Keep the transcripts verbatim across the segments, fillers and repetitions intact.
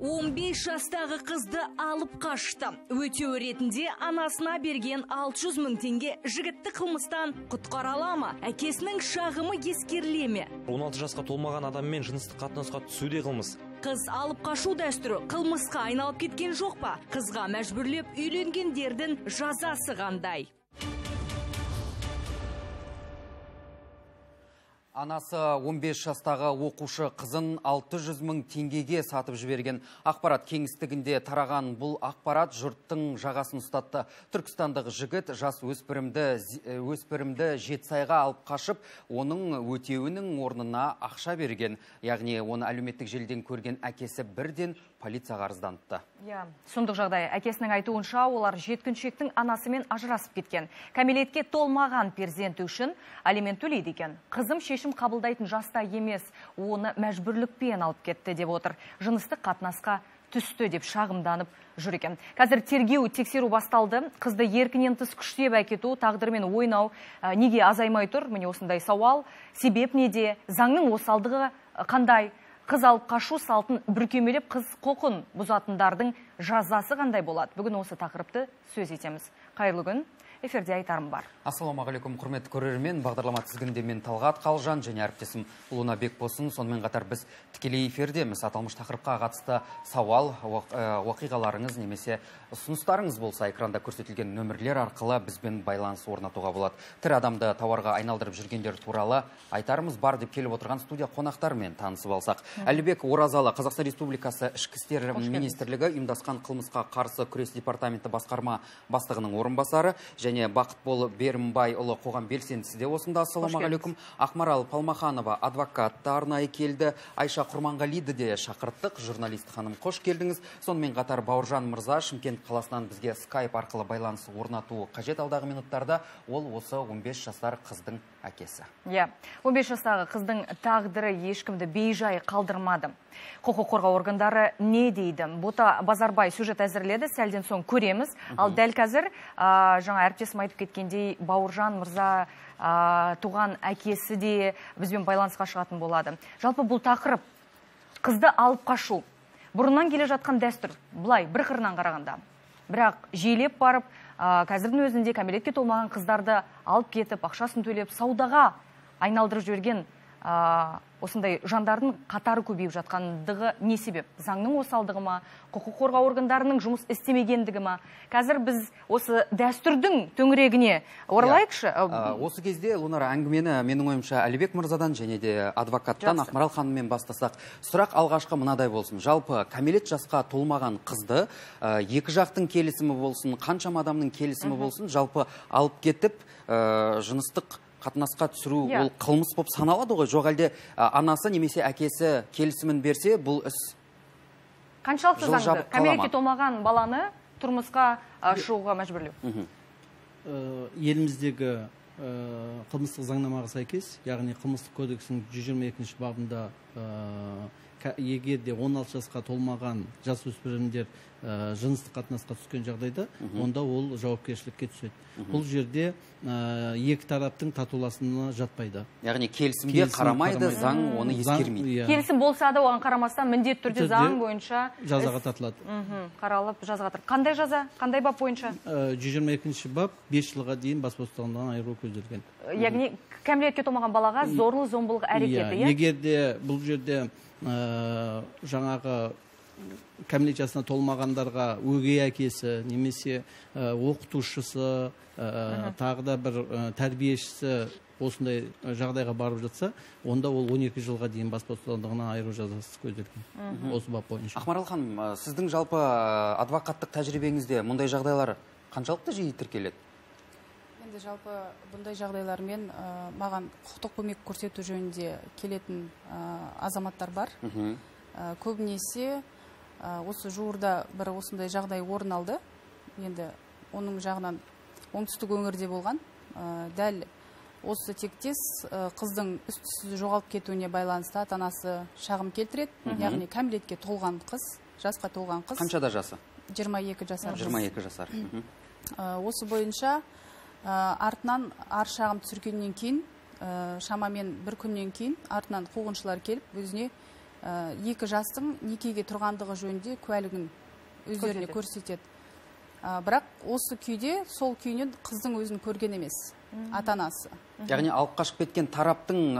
он бес жастағы қызды алып қашты. Өтеу ретінде анасына берген алты жүз мың теңге жігітті қылмыстан құтқара ала ма? Әкесінің шағымы ескеріле ме? он алты жасқа толмаған адаммен жыныстық қатынасқа түсуде қылмыс. Қыз алып қашу дәстүрі қылмысқа айналып кеткен жоқ па? Қызға мәжбүрлеп үйленгендердің жазасы қандай? Анасы он бес жастағы оқушы қызын алты жүз мың теңгеге сатып жіберген. Ақпарат кеңістігінде тараған бұл ақпарат жұрттың жағасын ұстатты. Түркістандық жігіт жас өспірімді, өспірімді Жетісайға алып қашып, оның өтеуінің орнына ақша берген. Яғни оны әлеуметтік желіден көрген әкесі бірден полицияға арызданыпты. Иә, сондық жағдай. Әкесінің айтуынша, олар жеткіншектің анасымен ажырасып кеткен. Кәмелетке толмаған перзенті үшін алимент төлейді екен. Қызым шешім қабылдайтын жаста емес, оны мәжбүрлікпен алып кетті деп отыр. Жыныстық қатынасқа түсті деп шағымданып жүр екен. Қазір тергеу тексеру басталды. Қызды еркінен тыс күштеп әкету, тағдырмен ойнау неге азаймай тұр? Міне осындай сауал. Себеп неде? Заңның осалдығы қандай? Қыз алып қашу салтын бүркемелеп қыз құқын бұзатындардың жазасы қандай болады? Бүгін осы тақырыпты сөз етеміз. Қайырлы күн. Эфирде айтарым бар. Ассалаумағалейкум, құрметті көрермен. Бағдарлама тізгінінде мен Талғат Қалжан және әріптесім Луна Бекбосын. Сонымен қатар біз тікелей эфирдеміз. Аталмыш тақырыпқа қатысты сауал, уақиғаларыңыз немесе ұсыныстарыңыз болса, экранда көрсетілген нөмірлер арқылы бізбен байланыс орнатуға болады. Тірі адамды тауарға айналдырып жүргендер туралы айтарымыз бар деп келіп отырған студия қонақтармен танысып алсақ. Әлібек Оразалы, Қазақстан Республикасы Ішкі істер министрлігі ұйымдасқан қылмысқа қарсы күрес департаменті басқарма бастығының орынбасары және Бақытбол Берімбайұлы қоғам белсендісі де осында. Ассалаумағалейкум. Ақмарал Палмаханова адвокат арнайы келді. Айша Құрманғалиді де шақырттық. Журналист ханым, қош келдіңіз. Сонымен қатар Бауыржан Мырза Шымкент қаласынан бізге скайп арқылы байланыс орнатуы қажет. Алдағы минуттарда ол осы он бес жасар қыздың әкесі. Иә, он бес жастағы қыздың тағдыры ешкімді бейжай қалдырмады. Құқық қорғау органдары не дейді? Бота Базарбай сюжет әзірледі, сәлден соң көреміз. Ал дәл қазір жаңа әріптесім айтып кеткендей, Бауыржан Мырза туған әкесі де бізбен байланысқа шығатын болады. Жалпы бұл тақырып қызды алып қашу бұрыннан келе жатқан дәстүр, бұлай бір қырынан қарағанда. Бірақ жиілеп барып, қазірдің өзінде кәмелетке толмаған қыздарды алып кетіп, ақшасын төлеп, саудаға айналдырып жіберген осындай жандардың қатары көбейіп жатқандығы не себеп? Заңның осалдығы ма, құқық қорғау органдарының жұмыс істемегендігі ма? Қазір біз осы дәстүрдің төңірегіне оралайықшы. Осы кезде, Лунара, әңгімені менің ойымша Әлібек Мырзадан және де адвокаттан Ақмарал ханыммен бастасақ, сұрақ алғашқы мынадай болсын. Жалпы кәмелет жасқа толмаған қызды екі жақтың келісімі болсын, қаншама адамның келісімі болсын, жалпы алып кетіп жыныстық қатынасқа түсіру ол қылмыс болып саналады ғой? Жоқ әлде анасы немесе әкесі келісімін берсе, бұл іс қаншалықты заңды? Кәмелетке толмаған баланы тұрмысқа шығуға мәжбүрлеу? Еліміздегі қылмыстық заңнамаға сәйкес, яғни қылмыстық кодексінің жүз жиырма екінші бабында егер де он алты жасқа толмаған жасөспірімдер жыныстық қатынасқа түскен жағдайда, онда ол жауапкершілікке түседі. Бұл жерде екі тараптың татуласына жатпайды. Яғни келісімге қарамайды, заң оны ескермейді. Келісім болса да оған қарамастан міндетті түрде заң бойынша жазаға тартылады. Қаралып жазаға тартылады. Қандай жаза? Қандай бап бойынша? жүз жиырма екінші бап бес жылға дейін бас бостандығынан айыру көзделген. Яғни кәмелетке толмаған балаға зорлы зомбылық әрекеті, егер де бұл жерде жаңағы кәмелет жасына толмағандарға өгей әкесі немесе оқытушысы, тағы да бір тәрбиешісі осындай жағдайға барып жатса, онда ол он екі жылға дейін бас бостандығынан айыру жазасы көзделген. Осы бап бойынша. Ақмарал ханым, сіздің жалпы адвокаттық тәжірибеңізде мұндай жағдайлар қаншалықты жиі тіркеледі? Енді жалпы бұндай жағдайлармен маған құқықтық көмек көрсету жөнінде келетін азаматтар бар. Көбінесе осы жуырда бір осындай жағдай орын алды. Енді оның жағынан оңтүстік өңірде болған. Дәл осы тектес қыздың үстісіз жоғалып кетуіне байланысты ата-анасы шағым келтіреді. Яғни кәмелетке толған қыз, жасқа толған қыз. Қаншада жасы? жиырма екі жасар. жиырма екі жасар. Осы бойынша артынан ар шағым түсіргеннен кейін, шамамен бір күннен кейін артынан қуғыншылар келіп, өзіне екі жастың некеге тұрғандығы жөнінде куәлігін өздеріне көрсетеді. Бірақ осы күйде сол күйінен қыздың өзін көрген емес, ата-анасы. Яғни алып қашып кеткен тараптың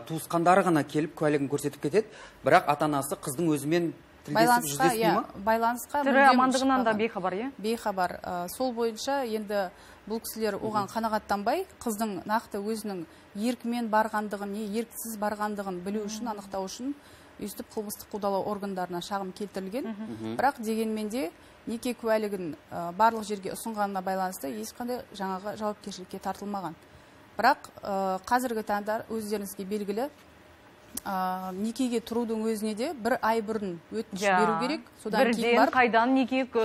туысқандары ғана келіп куәлігін көрсетіп кетеді, бірақ ата-анасы қыздың өзімен тілдесіп жүздеспей ма? Байланысқа тірі амандығынан да бейхабар, иә? Бейхабар. Сол бойынша енді бұл кісілер оған қанағаттанбай, қыздың нақты өзінің еркімен барғандығын, не еркісіз барғандығын білу үшін, анықтау үшін өйстіп қылмыстық қудалау органдарына шағым келтірілген. Бірақ дегенмен де неке куәлігін барлық жерге ұсынғанына байланысты ешқандай жаңағы жауапкершілікке тартылмаған. Бірақ қазіргі таңда өздеріңізге белгілі, некеге тұрудың өзіне де бір ай бұрын өтініш беру керек. Содан кейін бар. Қайдан некеге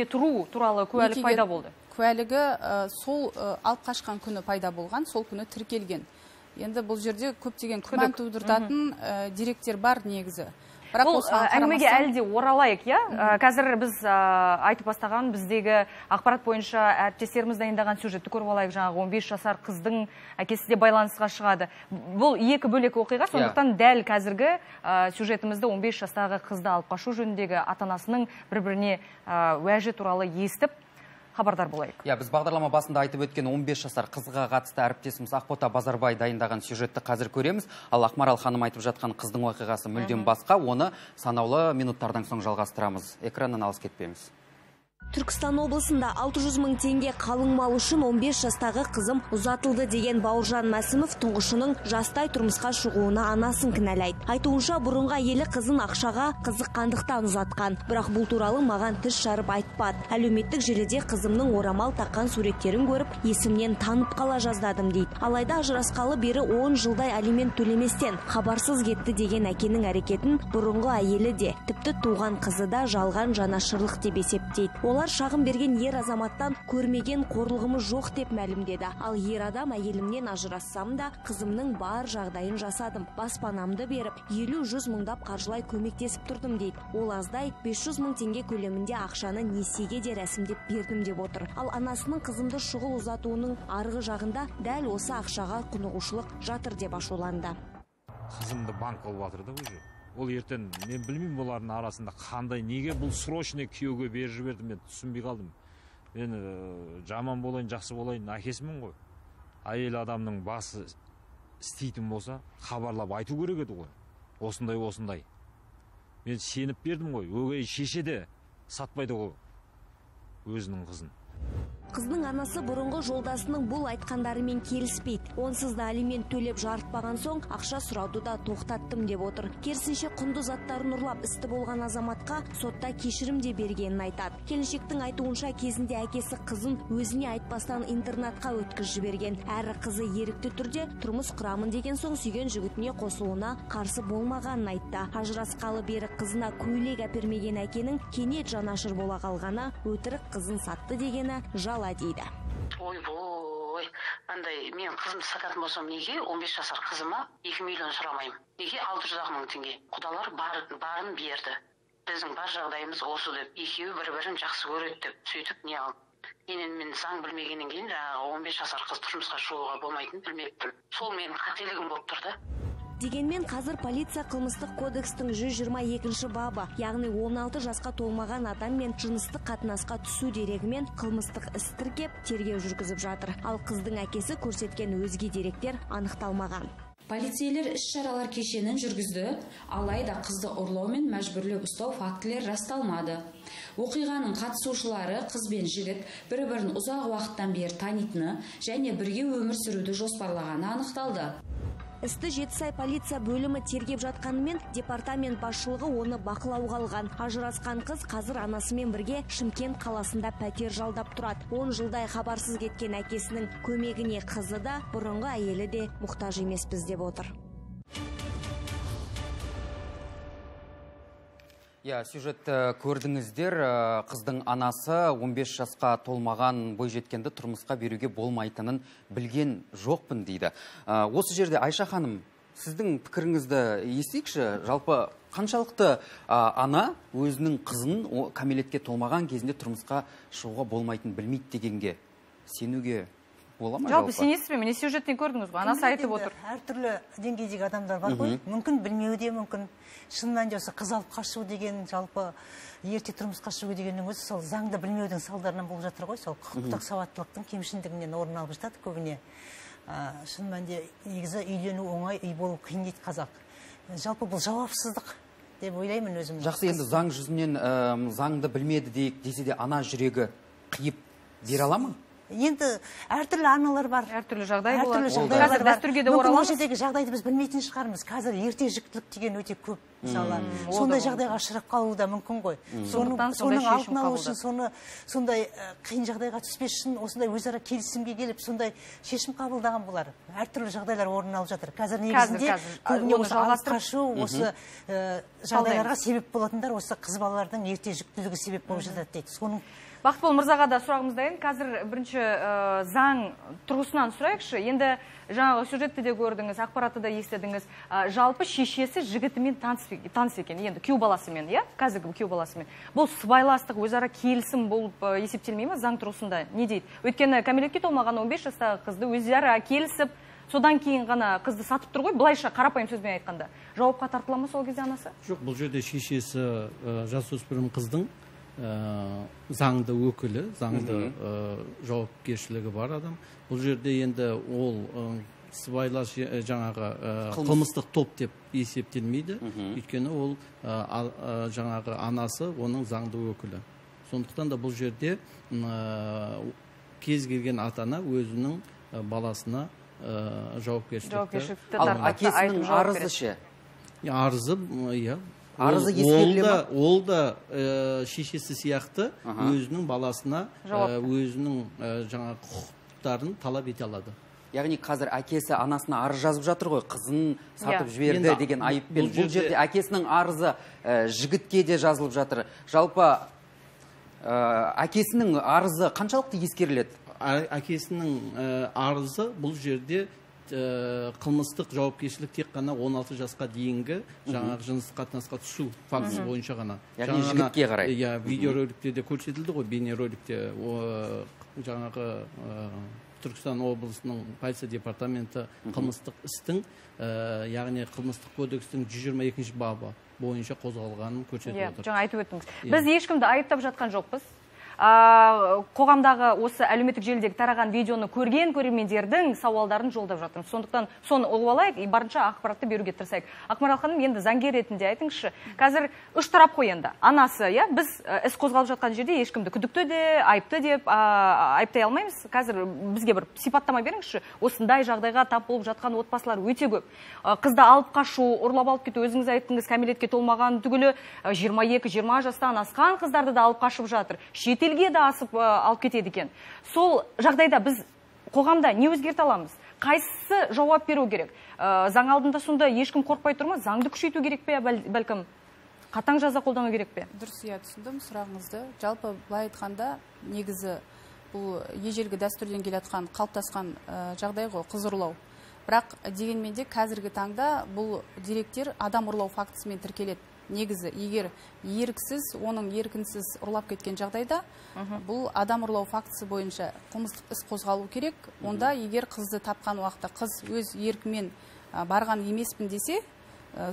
тұру туралы куәлік пайда болды? Куәлігі сол алып қашқан күні пайда болған, сол күні тіркелген. Енді бұл жерде көптеген күмән тудыртатын деректер бар негізі. Бұл әңгімеге әлі де оралайық, иә? Қазір біз айтып бастаған біздегі ақпарат бойынша әріптестеріміз дайындаған сюжетті көріп алайық. Жаңағы он бес жасар қыздың әкесі де байланысқа шығады. Бұл екі бөлек оқиға, сондықтан дәл қазіргі сюжетімізді он бес жастағы қызды алып қашу жөніндегі ата-анасының бір-біріне уәжі туралы естіп хабардар болайық. Я, біз бағдарлама басында айтып өткен он бес жасар қызға қатысты әріптесіміз Ақбота Базарбай дайындаған сюжетті қазір көреміз. Ал Ақмарал ханым айтып жатқан қыздың оқиғасы мүлдем басқа. Оны санаулы минуттардан соң жалғастырамыз. Экраннан алыс кетпейміз. Түркістан облысында алты жүз мың теңге қалың мал үшін он бес жастағы қызым ұзатылды деген Бауыржан Мәсімов тұңғышының жастай тұрмысқа шығуына анасын кінәлайды. Айтуынша бұрынғы әйелі қызын ақшаға қызыққандықтан ұзатқан. Бірақ бұл туралы маған тіс жарып айтпады. Әлеуметтік желіде қызымның орамал таққан суреттерін көріп, есімнен танып қала жаздадым дейді. Алайда ажырасқалы бері он жылдай алимент төлеместен хабарсыз кетті деген әкенің әрекетін бұрынғы әйелі де, тіпті туған қызы да жалған жанашырлық деп есептейді. Олар шағым берген ер азаматтан көрмеген қорлығымыз жоқ деп мәлімдеді. Ал ер адам әйелімнен ажырассам да қызымның бар жағдайын жасадым. Баспанамды беріп, елу жүз мыңдап қаржылай көмектесіп тұрдым дейді. Ол аздай бес жүз мың теңге көлемінде ақшаны несиеге де рәсімдеп бердім деп отыр. Ал анасының қызымды шұғыл ұзатуының арғы жағында дәл осы ақшаға құнығушылық жатыр деп ашуланды. Қызымды банк алып жатыр да уже. Ол ертең мен білмеймін олардың арасында қандай, неге бұл срочный күйеуге беріп жіберді, мен түсінбей қалдым. Мен жаман болайын, жақсы болайын, әкесімін ғой. Әйел адамның басы істейтін болса, хабарлап айту керек еді ғой. Осындай, осындай. Мен сеніп бердім ғой. Өгей шеше де сатпайды ғой өзінің қызын. Қыздың анасы бұрынғы жолдасының бұл айтқандарымен келіспейді. Онсыз да алимент төлеп жарытпаған соң ақша сұрауды да тоқтаттым деп отыр. Керісінше құнды заттарын ұрлап істі болған азаматқа сотта кешірім де бергенін айтады. Келіншектің айтуынша кезінде әкесі қызын өзіне айтпастан интернатқа өткізіп жіберген. Әрі қызы ерікті түрде тұрмыс құрамын деген соң сүйген жігітіне қосылуына қарсы болмағанын айтты. Ажырасқалы бері қызына көйлек әпермеген әкенің кенет жанашыр бола қалғаны, өтірік қызын сатты дегені жал дейді. Ой-бой, андай мен қызымды сататын болсам неге он бес жасар қызыма екі миллион сұрамаймын? Неге алты жүз мың теңге? Құдалар барын берді. Біздің бар жағдайымыз осы деп, екеуі бір-бірін жақсы көреді деп, сөйтіп не алып. Енен мен заң білмегеннен кейін жаңағы он бес жасар қыз тұрмысқа шығуға болмайтынын білмеппін. Сол менің қателігім болып тұрды. Дегенмен қазір полиция қылмыстық кодекстің жүз жиырма екінші бабы, яғни он алты жасқа толмаған адам мен жыныстық қатынасқа түсу дерегімен қылмыстық іс тіркеп тергеу жүргізіп жатыр. Ал қыздың әкесі көрсеткен өзге деректер анықталмаған. Полицейлер іс-шаралар кешенін жүргізді, алайда қызды ұрлау мен мәжбүрлеп ұстау фактілер расталмады. Оқиғаның қатысушылары қыз бен жігіт бір-бірін ұзақ уақыттан бері танитыны және бірге өмір сүруді жоспарлағаны анықталды. Істі Жетісай полиция бөлімі тергеп жатқанымен департамент басшылығы оны бақылауға алған. Ажырасқан қыз қазір анасымен бірге Шымкент қаласында пәтер жалдап тұрады. он жылдай хабарсыз кеткен әкесінің көмегіне қызы да, бұрынғы әйелі де мұқтаж емеспіз деп отыр. Я, сюжетті көрдіңіздер, қыздың анасы он бес жасқа толмаған бойжеткенді тұрмысқа беруге болмайтынын білген жоқпын дейді. Осы жерде Айша ханым, сіздің пікіріңізді естейікші, жалпы қаншалықты ана өзінің қызын кәмелетке толмаған кезінде тұрмысқа шығуға болмайтынын білмейді дегенге сенуге бола ма? Жалпы сенесіз бе? Міне сюжеттен көрдіңіз ғой, анасы айтып отыр. Әртүрлі деңгейдегі адамдар бар ғой, мүмкін білмеуі де мүмкін. Шынымен де осы қыз алып қашу деген, жалпы ерте тұрмысқа шығу дегеннің өзі сол заңды білмеудің салдарынан болып жатыр ғой, сол құқықтық сауаттылықтың кемшіндігінен орын алып жатады көбіне. Шынымен де негізі үйлену оңай, үй болу қиын дейді қазақ. Жалпы бұл жауапсыздық деп ойлаймын өзім. Жақсы, енді заң жүзінен заңды білмеді дейік десе де ана жүрегі қиып бере ала ма? Енді әртүрлі аналар бар. Әртүрлі жағдай болады. Әртүрлі жағдайлар бар. Дәстүрге де мүмкін ол ораламыз. жердегі жағдайды біз білмейтін шығармыз. Қазір ерте жүктілік деген өте көп. Мысалы, сондай жағдайға ұшырап қалуы да мүмкін ғой. Соның алдын алу үшін, соны сондай қиын жағдайға түспес үшін осындай өзара келісімге келіп, сондай шешім қабылдаған болар. Әртүрлі жағдайлар орын алып жатыр. Қазір негізінде көбіне осы алып қашу, осы жағдайларға себеп болатындар осы қыз балалардың ерте жүктілігі себеп болып жатады дейді. Соның Бақытбол мырзаға да сұрағымыз дайын. Қазір бірінші заң тұрғысынан сұрайықшы. Енді жаңағы сюжетті де көрдіңіз, ақпаратты да естідіңіз. Жалпы шешесі жігітімен таныс екен. Енді күйеу баласымен, иә? Қазіргі күйеу баласымен. Бұл сыбайластық, өзара келісім болып есептелмей ме заң тұрғысында? Не дейді? Өйткені кәмелетке толмаған он бес жастағы қызды өзара келісіп, содан кейін ғана қызды сатып тұр ғой, былайша қарапайым сөзбен айтқанда. Жауапқа тартыла ма сол кезде анасы? Жоқ, бұл жерде шешесі жасөспірім қыздың заңды өкілі, заңды жауапкершілігі бар адам. Бұл жерде енді ол сыбайлас жаңағы қылмыстық топ деп есептелмейді. Өйткені ол жаңағы анасы оның заңды өкілі. Сондықтан да бұл жерде кез келген ата-ана өзінің баласына жауапкершілікті. Ал әкесінің арызы ше? Арызы, иә. Арызы ескеріле ма? Ол да шешесі сияқты өзінің баласына өзінің жаңа құқықтарын талап ете алады. Яғни қазір әкесі анасына арыз жазып жатыр ғой, қызын сатып жіберді деген айыппен. Бұл жерде әкесінің арызы жігітке де жазылып жатыр. Жалпы әкесінің арызы қаншалықты ескеріледі? Әкесінің арызы бұл жерде қылмыстық жауапкершілік тек қана он алты жасқа дейінгі жаңағы жыныстық қатынасқа түсу фактісі бойынша ғана. Яғни жігітке қарай. Иә, видеороликте де көрсетілді ғой, бейнероликте жаңағы Түркістан облысының полиция департаменті қылмыстық істің, яғни қылмыстық кодекстің жүз жиырма екінші бабы бойынша қозғалғанын көрсетіп отыр. Жаңа айтып өттіңіз. Біз ешкімді айыптап жатқан жоқпыз. Қоғамдағы осы әлеуметтік желідегі тараған видеоны көрген көрермендердің сауалдарын жолдап жатырмыз. Сондықтан соны ұғып алайық, барынша ақпаратты беруге тырысайық. Ақмарал ханым, енді заңгер ретінде айтыңызшы, қазір үш тарап қой енді. Анасы, иә, біз іс қозғалып жатқан жерде ешкімді күдікті де, айыпты деп айыптай алмаймыз. Қазір бізге бір сипаттама беріңізші. Осындай жағдайға тап болып жатқан отбасылар өте көп. Қызды алып қашу, ұрлап алып кету, өзіңіз айттыңыз, кәмелетке толмаған түгілі жиырма екі жиырма жастан асқан қыздарды да алып қашып жатыр. Шетелге де асып алып кетеді екен. Сол жағдайда біз қоғамда не өзгерте аламыз? Қайсысы жауап беру керек? Заң алдында сонда ешкім қорқпай тұр ма? Заңды күшейту керек пе, бәлкім қатаң жаза қолдану керек пе? Дұрыс, иә, түсіндім сұрағыңызды. Жалпы былай айтқанда, негізі бұл ежелгі дәстүрден келатқан қалыптасқан жағдай ғой, қыз ұрлау. Бірақ дегенмен де қазіргі таңда бұл деректер адам ұрлау фактісімен тіркеледі. Негізі, егер еріксіз, оның еркінсіз ұрлап кеткен жағдайда, бұл адам ұрлау фактісі бойынша қылмыстық іс қозғалу керек. Онда егер қызды тапқан уақытта қыз өз еркімен барған емеспін десе,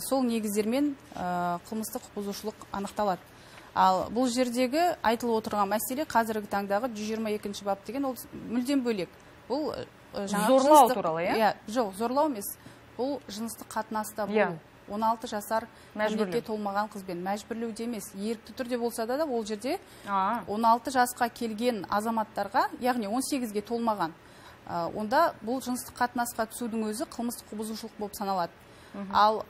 сол негіздермен қылмыстық бұзушылық анықталады. Ал бұл жердегі айтылып отырған мәселе қазіргі таңдағы жүз жиырма екінші бап деген ол мүлдем бөлек. Бұл зорлау туралы, иә? Жоқ, зорлау емес. Бұл жыныстық қатынаста болу. он алты жасар кәмелетке толмаған қызбен мәжбүрлеуде емес, ерікті түрде болса да, ол жерде он алты жасқа келген азаматтарға, яғни он сегізге толмаған, онда бұл жыныстық қатынасқа түсудің өзі қылмыстық бұзушылық болып саналады. Ал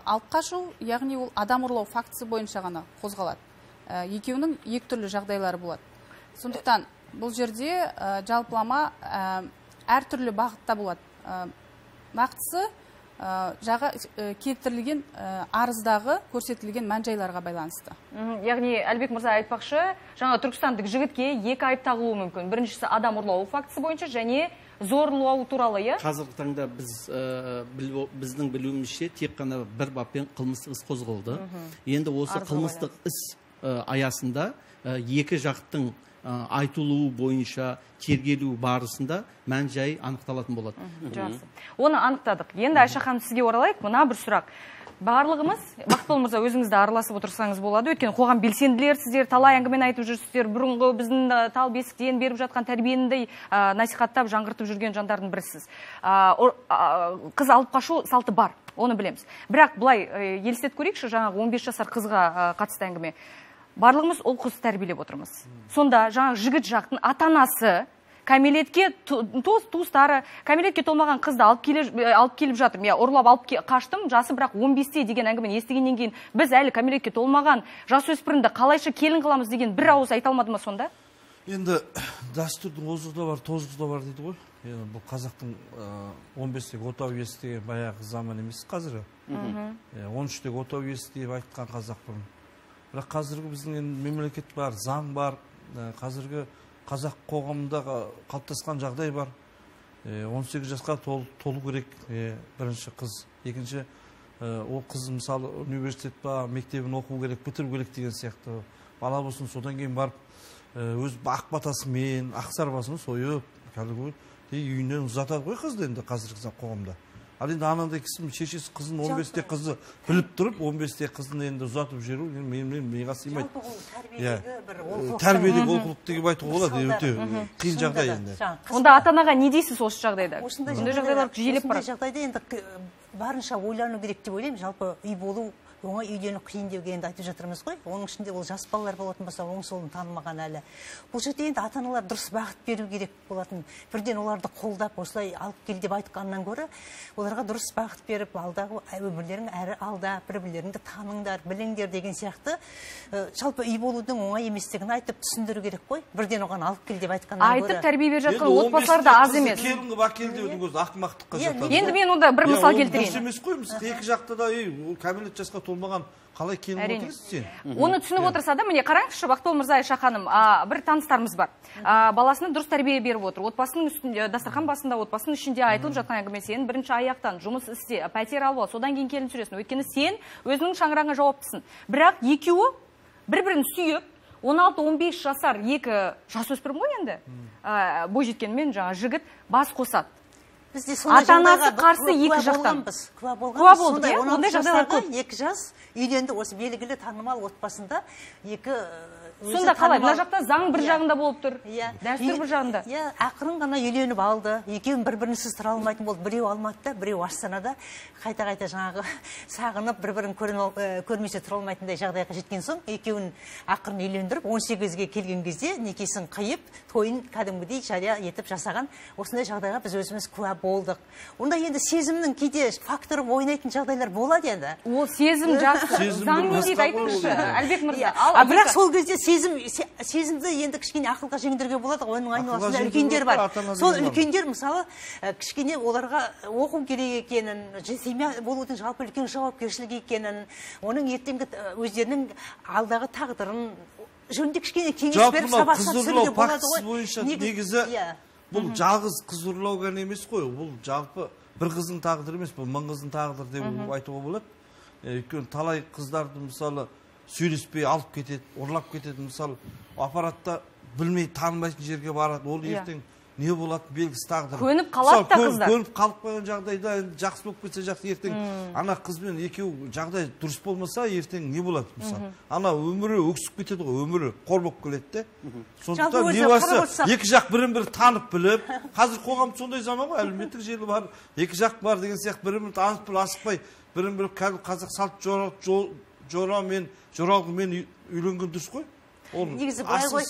алып қашу, яғни ол адам ұрлау фактісі бойынша ғана қозғалады. Екеуінің екі түрлі жағдайлары болады. Сондықтан бұл жерде жалпылама әртүрлі бағытта болады. Нақтысы жаға келтірілген арыздағы көрсетілген мән-жайларға байланысты. Яғни Әлбек мырза айтпақшы, жаңа түркістандық жігітке екі айып тағылуы мүмкін. Біріншісі адам ұрлау фактісі бойынша және зорлау туралы, иә? Қазіргі таңда біздің білуімізше тек қана бір баппен қылмыстық іс қозғалды. Енді осы қылмыстық іс аясында екі жақтың айтылуы бойынша тергелу барысында мән жай анықталатын болады. Жақсы. Оны анықтадық. Енді Айша ханым, сізге оралайық. Мына бір сұрақ. Барлығымыз, Бақытбол мырза, өзіңізді араласып отырсаңыз болады. Өйткені қоғам белсенділер, сіздер талай әңгімені айтып жүрсіздер. Бұрынғы біздің тал бесіктен беріп жатқан тәрбиені насихаттап, жаңғыртып жүрген жандардың бірісіз. Қыз алып қашу салты бар, оны білеміз. Бірақ былай елестетіп көрейікші, жаңағы он бес жасар қызға қатысты әңгіме. Барлығымыз ол қыз тәрбиелеп отырмыз. Сонда жаңағы жігіт жақтың ата-анасы кәмелетке туыстары кәмелетке толмаған қызды алып келіп жатыр. Мен ұрлап алып қаштым, жасы бірақ он бесте деген әңгімені естігеннен кейін біз әлі кәмелетке толмаған жасөспірімді қалайша келін қыламыз деген бір ауыз айта алмады ма сонда? Енді дәстүрдің озығы да бар, тозығы да бар дейді ғой. Енді бұл қазақтың он бестегі отау иесі деген баяғы заман емес қазіргі. он үштегі отау иесі деп айтқан қазақ бұрын. Бірақ қазіргі біздің мемлекет бар, заң бар, қазіргі қазақ қоғамындағы қалыптасқан жағдай бар. он сегіз жасқа толу керек бірінші қыз. Екінші, ол қыз мысалы университет ба, мектебін оқу керек, бітіру керек деген сияқты. Бала болсын, содан кейін барып, өз ақ батасымен, ақ сарбасын сойып, кәдімгі үйінен ұзатады ғой қызды енді қазіргі қоғамда. Ал енді анандай кісі шешесі қызын он бесте қызы біліп тұрып, он бесте қызын енді ұзатып жүру менің миға сыймайды. Тәрбиедегі олқылық деп айтуға болады, өте қиын жағдай енді. Онда ата-анаға не дейсіз осы жағдайда? Осындай жағдайлар жиілеп барады. Осындай жағдайда енді барынша ойлану керек деп ойлаймын. Жалпы үй болу оңай, үйлену қиын деуге енді айтып жатырмыз ғой. Оның ішінде ол жас балалар болатын болса, оң солын танымаған әлі. Бұл жерде енді ата-аналар дұрыс бағыт беру керек болатын. Бірден оларды қолдап, осылай алып кел деп айтқаннан гөрі, оларға дұрыс бағыт беріп, алдағы өмірлерің әрі алда, бір-бірлеріңді таныңдар, біліңдер деген сияқты. Жалпы үй болудың оңай еместігін айтып түсіндіру керек қой. Бірден оған алып кел деп айтқаннан гөрі. Айтып тәрбие беріп жатқан отбасылар да аз емес. Келінгі бакел деудің өзі ақымақтыққа жатады. Енді мен онда бір мысал келтірейін. Дұрыс емес қой, екі жақта да кәмелет жасқа толмаған қалай келін отырсыз сен? Оны түсініп отырса да, міне қараңызшы, Бақытбол мырза, Айша ханым, бір таныстарымыз бар. Баласына дұрыс тәрбие беріп отыр. Отбасының үстінде, дастархан басында, отбасының ішінде айтылып жатқан әңгіме, сен бірінші аяқтан жұмыс істе, пәтер алып ал, содан кейін келін сүресің. Өйткені сен өзінің шаңырағыңа жауаптысың. Бірақ екеуі бір-бірін сүйіп, он алты он бес жасар екі жасөспірім ғой енді. Бойжеткенмен жаңа жігіт бас қосады. Ата-анасы қарсы екі жақтан. Куә болған. Сондай он алты жастағы екі жас үйленді, осы белгілі танымал отбасында екі. Сонда қалай? Мына жақта заң бір жағында болып тұр, дәстүр бір жағында. Ақырын ғана үйленіп алды. Екеуін бір-бірінсіз тұра алмайтын болды. Біреу Алматыда, біреу Астанада. Қайта-қайта жаңағы сағынып, бір-бірін көрмесе тұра алмайтындай жағдайға жеткен соң, екеуін ақырын үйлендіріп, он сегізге келген кезде некесін қиып, тойын кәдімгідей жария етіп жасаған. Осындай жағдайға біз өзіміз куә болдық. Онда енді сезімнің кейде факторы ойнайтын жағдайлар болады енді. Ол сезім жақсы. Заң не дейді айтыңызшы, Әлбек мырза. Бірақ сол кезде сезім сезімді енді кішкене ақылға жеңдіруге болады. Оның айналасында үлкендер бар. Сол үлкендер мысалы кішкене оларға оқу керек екенін, семья болудың жалпы үлкен жауапкершілік екенін, оның ертеңгі өздерінің алдағы тағдырын жөнінде кішкене кеңес беріп сабақтап түсіруге болады ғой. Бойынша негізі бұл жалғыз қыз ұрлау ғана емес қой. Бұл жалпы бір қыздың тағдыры емес, бұл мың қыздың тағдыры деп айтуға болады. Өйткені талай қыздарды мысалы сөйлеспей алып кетеді, ұрлап кетеді. Мысалы, аппаратта білмей танымайтын жерге барады. Ол ертең не болады белгісіз тағдыр. Көніп қалады да қыздар. Көніп қалып қойған жағдайда жақсы болып кетсе жақсы, ертең ана қызбен екеу жағдай дұрыс болмаса, ертең не болады мысалы? Ана өмірі өксіп кетеді ғой, өмірі қор болып келеді де. Сондықтан не болса, екі жақ бірін-бірі танып біліп, қазір қоғам сондай заман ғой, әлеуметтік желі бар, екі жақ бар деген сияқты бірін-бірі танып біліп, асықпай, бірін-бірі қазақ салт жорамен, жоралғымен үйленген дұрыс қой. Негізі былай ғой,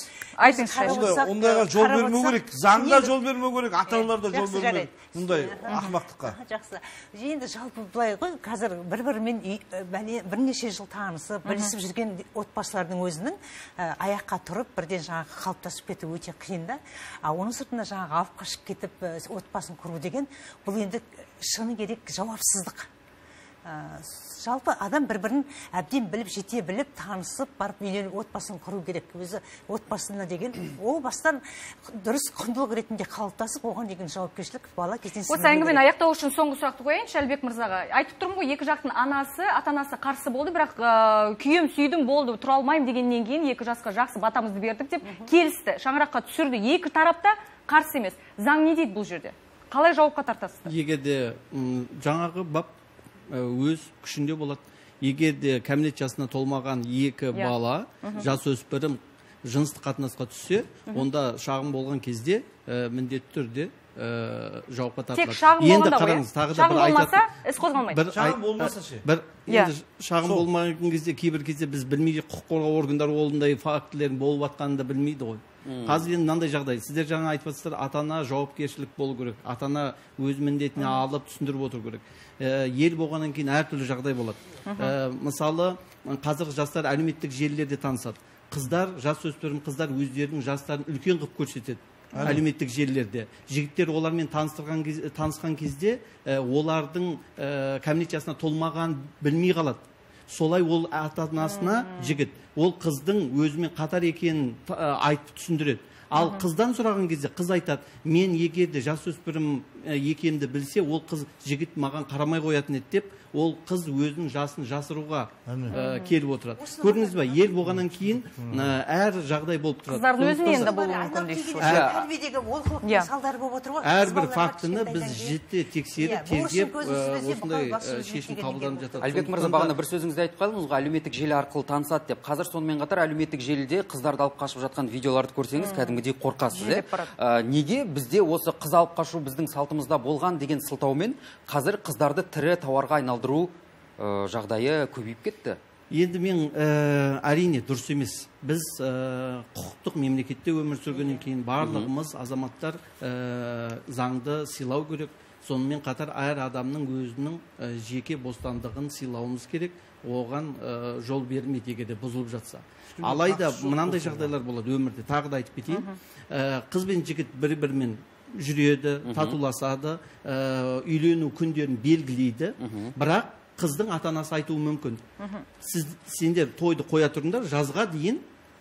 ондайға жол бермеу керек, заңда жол бермеу керек, ата-аналарда жол бермеу керек, мұндай ақымақтыққа. Жақсы. Енді жалпы былай ғой, қазір бір-бірімен бірнеше жыл танысып, білісіп жүрген отбасылардың өзінің аяққа тұрып, бірден жаңағы қалыптасып кету өте қиын да. Оның сыртында жаңағы алып қашып кетіп, отбасын құру деген, бұл енді шыны керек жауапсыздық. жалпы адам бір-бірін әбден біліп, жете біліп, танысып, барып үйленіп, отбасын құру керек. Өзі отбасына деген ол бастан дұрыс құндылық ретінде қалыптасып, оған деген жауапкершілік бала кезден сіңіру керек. Осы әңгімені аяқтау үшін соңғы сұрақты қояйыншы Әлібек мырзаға. Айтып тұрмын ғой, екі жақтың анасы, ата-анасы қарсы болды, бірақ күйем сүйдім болды, тұра алмаймын дегеннен кейін екі жасқа жақсы батамызды бердік деп келісті, шаңыраққа түсірді. Екі тарапта қарсы емес. Заң не дейді бұл жерде? Қалай жауапқа тартасыздар? Егер де жаңағы бап өз күшінде болады. Егер де кәмелет жасына толмаған екі бала, жасөспірім жыныстық қатынасқа түссе, онда шағым болған кезде міндетті түрде жауапқа тартылады. Тек шағым болғанда ғой. Шағым болмаса, іс қозғалмайды. Шағым болмаса ше? Шағым болмаған кезде, кейбір кезде біз білмейді, құқық қорғау органдары ондай фактілердің болып жатқанын да білмейді ғой. Қазір енді мынандай жағдай, сіздер жаңа айтып жатсыздар, ата-ана жауапкершілік болу керек, ата-ана өз міндетіне алып түсіндіріп отыру керек. Ел болғаннан кейін әртүрлі жағдай болады. Мысалы, қазір жастар әлеуметтік желілерде танысады. Қыздар, жасөспірім қыздар өздерінің жастарын үлкен қылып көрсетеді әлеуметтік желілерде. Жігіттер олармен танысқан кезде олардың кәмелет жасына толмаған білмей қалады. Солай ол ата-анасына жігіт, ол қыздың өзімен қатар екенін айтып түсіндіреді. Ал қыздан сұраған кезде қыз айтады, мен егерде жасөспірім екенімді білсе, ол қыз жігіт маған қарамай қоятын еді деп, ол қыз өзінің жасын жасыруға келіп отырады. Көрдіңіз ба, ел болғаннан кейін әр жағдай болып тұрады. Қыздардың өзінен де болуы мүмкін дейсіз. Тәрбиедегі олқылықтың салдары болып отыр ғой. Әрбір фактіні біз жіті тексеріп, тергеп, осындай шешім қабылданып жатады. Әлібек мырза, бағана бір сөзіңізді айтып қалдыңыз ғой, әлеуметтік желі арқылы танысады деп. Қазір сонымен қатар әлеуметтік желіде қыздарды алып қашып жатқан видеоларды көрсеңіз, кәдімгідей қорқасыз. Неге бізде осы қыз алып қашу біздің салтымызда болған деген сылтаумен қазір қыздарды тірі тауарға айналдыру жағдайы көбейіп кетті? Енді мен әрине дұрыс емес. Біз құқықтық мемлекетте өмір сүргеннен кейін барлығымыз азаматтар заңды сыйлау керек. Сонымен қатар әр адамның өзінің жеке бостандығын сыйлауымыз керек. Оған жол бермейді егер де бұзылып жатса. Алайда мынандай жағдайлар болады өмірде. Тағы да айтып кетейін. Қыз бен жігіт бір-бірімен жүреді, татуласады, үйлену күндерін белгілейді. Бірақ қыздың ата-анасы айтуы мүмкін. Сіз сендер тойды қоя тұрыңдар, жазға дейін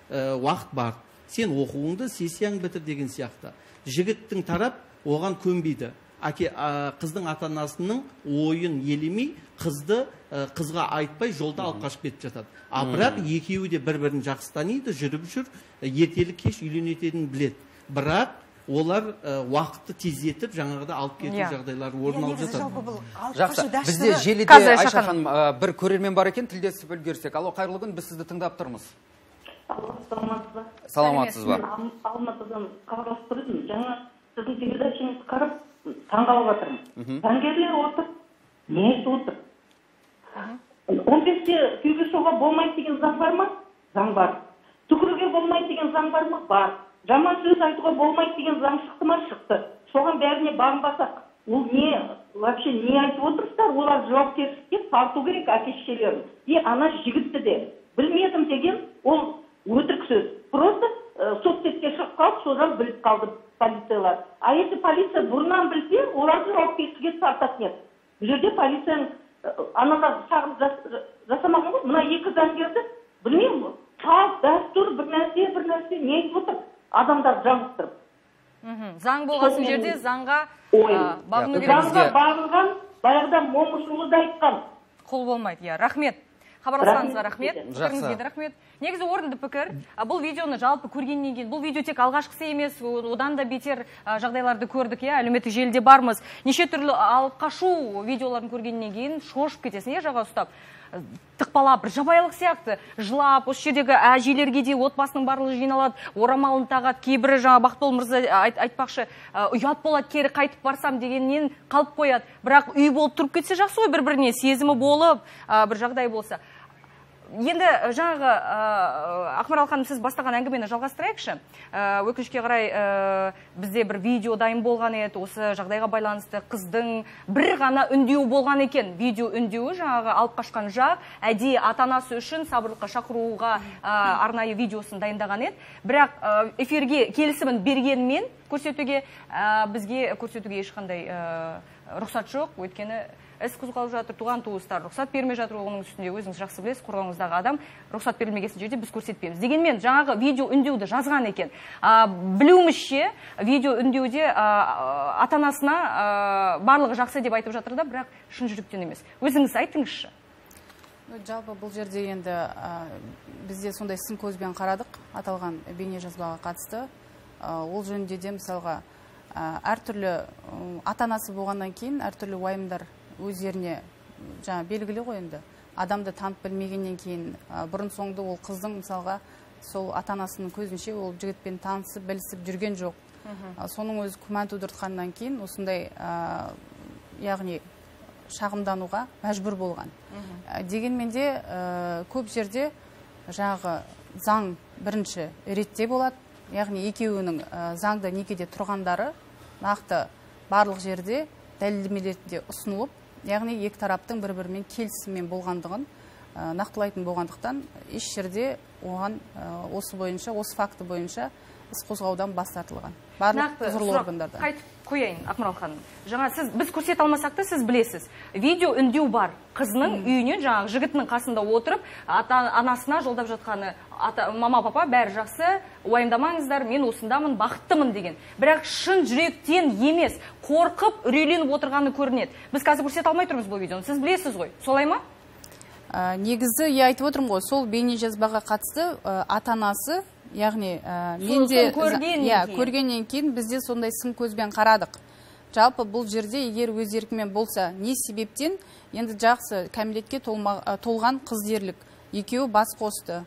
уақыт бар. Сен оқуыңды, сессияң бітір деген сияқты. Жігіттің тарап оған көнбейді. Қыздың ата-анасының ойын елемей, қызды қызға айтпай жолда алып қашып кетіп жатады. А бірақ екеуі де бір-бірін жақсы таниды, жүріп жүр, ертелі кеш үйленетінін біледі. Бірақ олар уақытты тездетіп жаңағыда алып кету жағдайлары орын алып жатады. Жақсы, бізде желіде Айша ханым бір көрермен бар екен, тілдесіп үлгерсек. Алло, қайырлы күн, біз сізді тыңдап тұрмыз. Саламатсыз ба? Саламатсыз ба? Алматыдан хабарласып тұр едім. Жаңа сіздің передачаңызды қарап таңғалып жатырмын. Заңгерлер отыр, не айтып отыр? он бесте күйеуге шығуға болмайды деген заң бар ма? Заң бар. Түкіруге болмайды деген заң бар ма? Бар. Жаман сөз айтуға болмайды деген заң шықты ма? Шықты. Соған бәріне бағынбасақ, ол не, вообще не айтып отырсыздар? Олар жауапкершілікке тарту керек әке-шешелерін. И ана жігітті де білмедім деген ол өтірік сөз. Просто соцсетке шығып қалып, содан біліп қалды полициялар. А если полиция бұрыннан білсе, оларды жауапкершілікке тартатын еді. Бұл жерде полицияның анаға шағым жасамаған ғой. Мына екі заңгерді білмеймін, салт, дәстүр, бір нәрсе, бір нәрсе не айтып отыр? Адамдар жаңғыстырып. Заң болған жерде заңға бағыну керек. Заңға бағынған, баяғыда момышұлы да айтқан. Құл болмайды, иә. Рахмет. Хабарласаңызға рахмет. Пікіріңізге рахмет. Негізі орынды пікір. Бұл видеоны жалпы көргеннен кейін, бұл видео тек алғашқысы емес, одан да бетер жағдайларды көрдік, иә, әлеуметтік желіде бармыз. Неше түрлі алып қашу видеоларын көргеннен кейін шошып кетесің, иә, жаға ұстап. Тықпалап, бір жабайылық сияқты жылап, осы жердегі әжелерге де отбасының барлығы жиналады, орамалын тағады, кейбірі жаңа Бақытбол мырза айтпақшы, ұят болады, кері қайтып барсам дегеннен қалып қояды. Бірақ үй болып тұрып кетсе жақсы ғой, бір-біріне сезімі болып, бір жағдай болса. Енді жаңағы Ақмарал ханым, сіз бастаған әңгімені жалғастырайықшы. Өкінішке қарай бізде бір видео дайын болған еді, осы жағдайға байланысты қыздың бір ғана үндеуі болған екен. Видео үндеуі жаңағы алып қашқан жақ әдейі ата-анасы үшін сабырлыққа шақыруға арнайы видеосын дайындаған еді. Бірақ эфирге келісімін бергенмен көрсетуге бізге көрсетуге ешқандай рұқсат жоқ, өйткені іс қозғалып жатыр, туған туыстар рұқсат бермей жатыр, оның үстінде өзіңіз жақсы білесіз, қорғауыңыздағы адам рұқсат берілмеген жерде біз көрсетпейміз. Дегенмен жаңағы видео үндеуді жазған екен. Білуімізше, видео үндеуде ата-анасына барлығы жақсы деп айтып жатыр да, бірақ шын жүректен емес. Өзіңіз айтыңызшы. Жалпы бұл жерде енді бізде сондай сын көзбен қарадық аталған бейне жазбаға қатысты. Ол жөнінде де мысалға әртүрлі ата-анасы болғаннан кейін әртүрлі уайымдар өздеріне жаңа белгілі ғой енді. Адамды танып білмегеннен кейін бұрын соңды ол қыздың мысалға сол ата-анасының көзінше ол жігітпен танысып, білісіп жүрген жоқ. Соның өзі күмән тудыртқаннан кейін осындай яғни шағымдануға мәжбүр болған. Дегенмен де көп жерде жаңағы заң бірінші ретте болады. Яғни екеуінің заңда некеде тұрғандары нақты барлық жерде дәлелдемелерде ұсынылып, яғни екі тараптың бір-бірімен келісіммен болғандығын нақтылайтын болғандықтан еш жерде оған осы бойынша, осы факті бойынша іс қозғаудан бас тартылған. Барлық құзырлы органдарда. Қайтып қояйын, Ақмарал ханым. Жаңа сіз біз көрсете алмасақ та сіз білесіз. Видео үндеу бар. Қызының үйінен жаңағы жігітінің қасында отырып, ата-анасына жолдап жатқаны, мама, папа, бәрі жақсы, уайымдамаңыздар, мен осындамын, бақыттымын деген. Бірақ шын жүректен емес, қорқып, үрейленіп отырғаны көрінеді. Біз қазір көрсете алмай тұрмыз бұл видеоны. Сіз білесіз ғой. Солай ма? Негізі, я айтып отырмын ғой, сол бейне жазбаға қатысты ата-анасы, яғни менде көргеннен кейін бізде сондай сын көзбен қарадық. Жалпы бұл жерде егер өз еркімен болса, не себептен енді жақсы кәмелетке толған қыз дерлік екеуі бас қосты,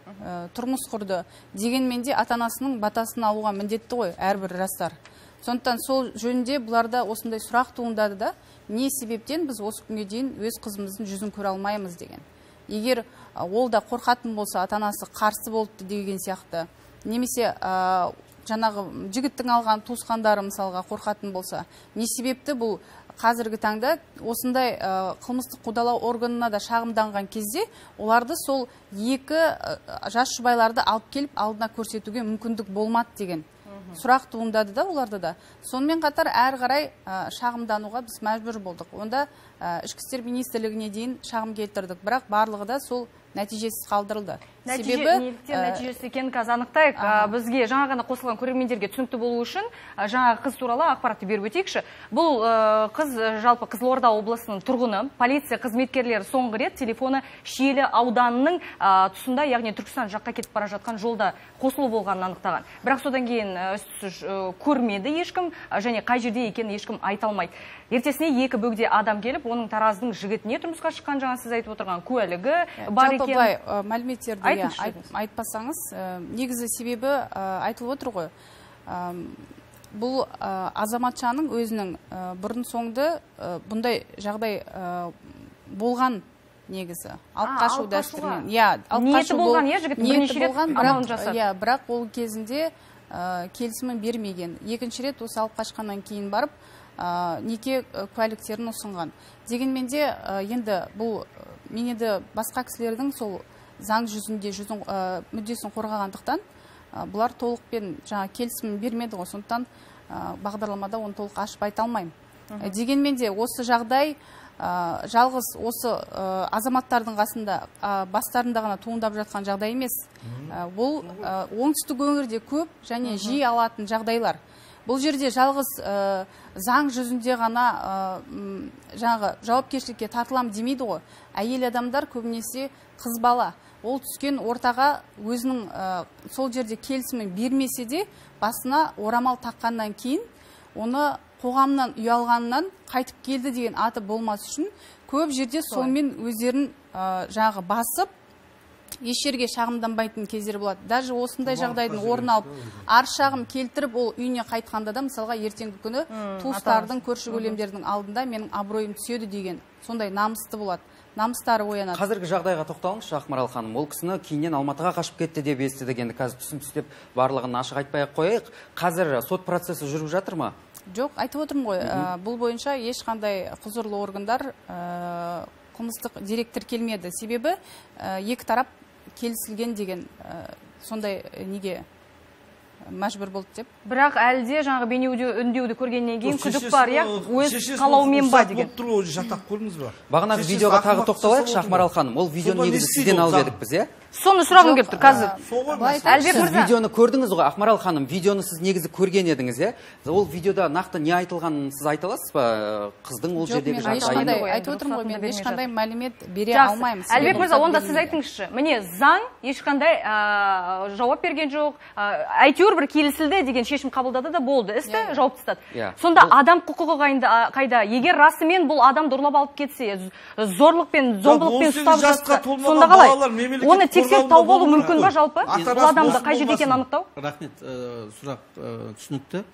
тұрмыс құрды. Дегенмен де ата-анасының батасын алуға міндетті ғой әрбір жастар. Сондықтан сол жөнінде бұларда осындай сұрақ туындады да, не себептен біз осы күнге дейін өз қызымыздың жүзін көре алмаймыз деген. Егер ол да қорқатын болса, ата-анасы қарсы болды деген сияқты, немесе жаңағы жігіттің алған туысқандары мысалға қорқатын болса, не себепті бұл қазіргі таңда осындай қылмыстық қудалау органына да шағымданған кезде оларды сол екі жас жұбайларды алып келіп алдына көрсетуге мүмкіндік болмады деген сұрақ туындады да оларды да. Сонымен қатар әрі қарай шағымдануға біз мәжбүр болдық. Онда ішкі істер министрлігіне дейін шағым келтірдік, бірақ барлығы да сол нәтижесіз қалдырылды. Себебі неліктен нәтижесі екенін қазір анықтайық. Бізге жаңа ғана қосылған көрермендерге түсінікті болу үшін жаңа қыз туралы ақпаратты беріп өтейікші. Бұл қыз жалпы Қызылорда облысының тұрғыны, полиция қызметкерлері соңғы рет телефоны Шиелі ауданының тұсында, яғни Түркістан жаққа кетіп бара жатқан жолда қосылу болғанын анықтаған. Бірақ содан кейін көрмеді ешкім, және қай жерде екенін ешкім айта алмайды. Ертесіне екі бөгде адам келіп, оның тараздың жігітіне тұрмысқа шыққан, жаңа сіз айтып отырған куәлігі бар екен. Жалпы былай мәліметтерді айтпасаңыз, негізі себебі айтылып отыр ғой. Бұл азаматшаның өзінің бұрын соңды бұндай жағдай болған негізі. Алып қашу дәстүрмен. Ниеті болған, е, жігіттің бірнеше рет амалын жасады. Бірақ ол кезінде келісімін бермеген. Екінші рет осы алып қашқаннан кейін барып неке куәліктерін ұсынған. Дегенмен де енді бұл мен енді басқа кісілердің сол заң жүзінде жүзін мүддесін қорғағандықтан бұлар толықпен жаңа келісімін бермеді ғой, сондықтан бағдарламада оны толық ашып айта алмаймын. Дегенмен де осы жағдай жалғыз осы азаматтардың қасында бастарында ғана туындап жатқан жағдай емес. Бұл оңтүстік өңірде көп және жиі алатын жағдайлар. Бұл жерде жалғыз заң жүзінде ғана жаңағы жауапкершілікке тартылам демейді ғой. Әйел адамдар көбінесе қыз бала. Ол түскен ортаға өзінің сол жерде келісімін бермесе де басына орамал таққаннан кейін оны қоғамнан ұялғанынан қайтып келді деген аты болмас үшін көп жерде сонымен өздерін жаңағы басып еш жерге шағымданбайтын кездер болады. Даже осындай жағдайдың орын алып, арыз шағым келтіріп, ол үйіне қайтқанда да мысалға ертеңгі күні туыстардың, көрші көлемдердің алдында менің абыройым түседі деген сондай намысты болады. Намыстары оянады. Қазіргі жағдайға тоқталыңызшы, Ақмарал ханым. Ол кісіні кейіннен Алматыға қашып кетті деп естідік. Енді қазір түсін түстеп барлығын ашық айтпай-ақ қояйық. Қазір сот процесі жүріп жатыр ма? Жоқ, айтып отырмын ғой. Бұл бойынша ешқандай құзырлы органдар қылмыстық дерек тіркелмеді. Себебі екі тарап келісілген деген сондай неге мәжбүр болды деп. Бірақ әлде жаңағы бейне үндеуді көргеннен кейін күдік бар, иә, өз қалауымен ба деген. Жаттап көрдіңіз ба? Бағанағы видеоға тағы тоқталайықшы, Ақмарал ханым. Ол видеоны негізі сізден алып едік біз, иә? Соны сұрағым келіп тұр қазір. Сіз видеоны көрдіңіз ғой, Ақмарал ханым, видеоны сіз негізі көрген едіңіз, иә? Ол видеода нақты не айтылғанын сіз айта аласыз ба? Қыздың ол жердегі жағдайын. Айтып отырмын ғой, мен ешқандай мәлімет бере алмаймын. Әлбек мырза, онда сіз айтыңызшы. Міне, заң ешқандай жауап берген жоқ. Әйтеуір бір келісілді деген шешім қабылдады да болды. Істі жауап тастады. Сонда адам құқығы қайда? Егер расымен бұл адам ұрлап алып кетсе, зорлықпен, зомбылықпен ұстап жатса, сонда қалай? Оны тексеріп тауып алу мүмкін ба жалпы? Бұл адамды қай жерде екенін анықтау? Рахмет, сұрақ түсінікті.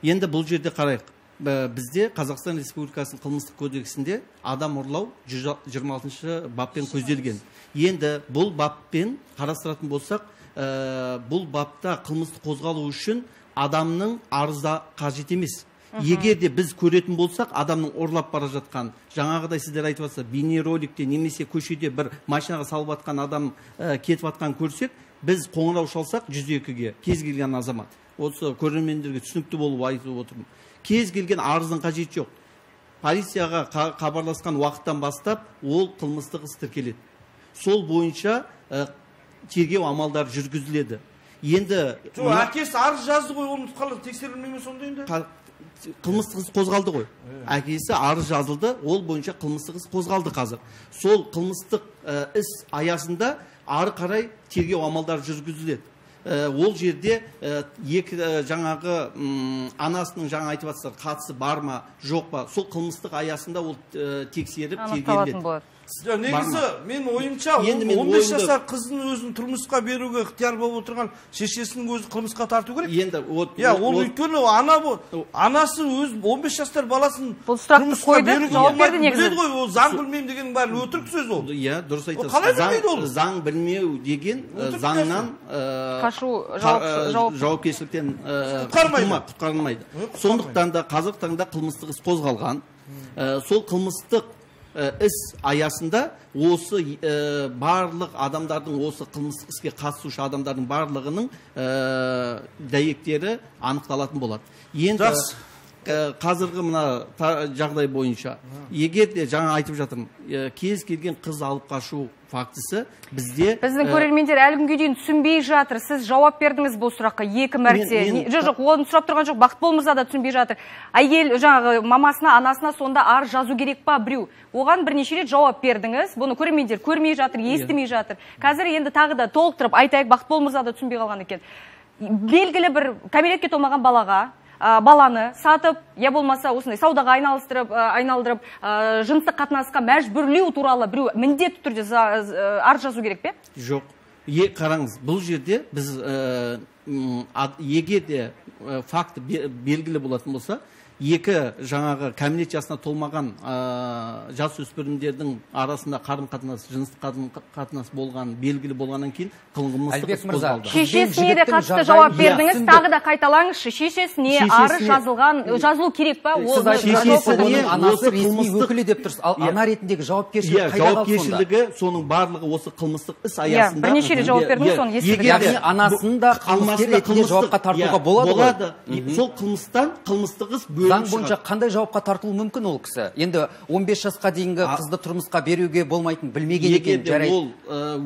Енді бұл жерде қарайық. Бізде Қазақстан Республикасының қылмыстық кодексінде адам ұрлау жүз жиырма алтыншы баппен көзделген. Енді бұл баппен қарастыратын болсақ, бұл бапта қылмыстық қозғалу үшін адамның арызы қажет емес. Егер де біз көретін болсақ, адамның ұрлап бара жатқан, жаңағыдай сіздер айтып жатса, бейнероликте немесе көшеде бір машинаға салып жатқан адам кетіп жатқан көрсек, біз қоңырау шалсақ жүз екіге кез келген азамат. Осы көрермендерге түсінікті болып айтып отырмын. Кез келген арыздың қажеті жоқ. Полицияға хабарласқан уақыттан бастап ол қылмыстық іс тіркеледі. Сол бойынша тергеу амалдары жүргізіледі. Енді әкесі арыз жазды ғой, оны қалай тексерілмей ме сонда енді? Қылмыстық іс қозғалды ғой. Әкесі арыз жазылды, ол бойынша қылмыстық іс қозғалды қазір. Сол қылмыстық іс аясында ары қарай тергеу амалдары жүргізіледі. Ол жерде екі жаңағы анасының жаңа айтып жатсыздар, қатысы бар ма, жоқ па, сол қылмыстық аясында ол тексеріп тергеледі. Негізі, мен ойымша, он бес жасар қыздың өзін тұрмысқа беруге ықтияр болып отырған шешесінің өзі қылмысқа тарту керек. Енді ол өйткені ана анасы өз он бес жастар баласын тұрмысқа беруге болмайтын біледі ғой, ол заң білмеймін деген бәрі өтірік сөз ол. Иә, дұрыс айтасыз. Қалай білмейді ол? Заң білмеу деген заңнан қашу жауапкершіліктен құтқарылмайды. Сондықтан да қазіргі таңда қылмыстық іс қозғалған. Сол қылмыстық іс аясында осы барлық адамдардың, осы қылмыстық іске қатысушы адамдардың барлығының дәйектері анықталатын болады. Енді қазіргі мына жағдай бойынша, егер де жаңа айтып жатырмын, кез келген қыз алып қашу фактісі бізде... Біздің көрермендер әлі күнге дейін түсінбей жатыр. Сіз жауап бердіңіз бұл сұраққа екі мәрте. Жоқ, оны сұрап тұрған жоқ, Бақыт Болмырза да түсінбей жатыр. Әйел жаңағы мамасына, анасына сонда арыз жазу керек па біреу? Оған бірнеше рет жауап бердіңіз. Бұны көрермендер көрмей жатыр, естімей жатыр. Қазір енді тағы да толықтырып айтайық, Бақыт Болмырза да түсінбей қалған екен. Белгілі бір кәмелетке толмаған балаға баланы сатып, я болмаса осындай саудаға айналыстырып, айналдырып, жыныстық қатынасқа мәжбүрлеу туралы біреу міндетті түрде арыз жазу керек пе? Жоқ. Қараңыз, бұл жерде біз егер де факті белгілі болатын болса, екі жаңағы кәмелет жасына толмаған жасөспірімдердің арасында қарым-қатынас, жыныстық қатынас болған, белгілі болғаннан кейін қылмыстық іс қозғалды. Шешесіне де қатысты жауап бердіңіз, тағы да қайталаңызшы. Шешесіне арыз жазылған, жазылу керек па? Шешесіне анасы ресми өкілі деп тұрсыз. Ал ана ретіндегі жауапкершілік қайда қалды сонда? Жауапкершілігі соның барлығы осы қылмыстық іс аясында. Бірнеше рет жауап бердіңіз, соны естідік. Яғни анасын да қылмыскер ретінде жауапқа тартуға болады ғой? Сол қылмыстан қылмыстық іс заң бойынша қандай жауапқа тартылуы мүмкін ол кісі? Енді он бес жасқа дейінгі қызды тұрмысқа беруге болмайтын білмеген екен, жарайды. Ол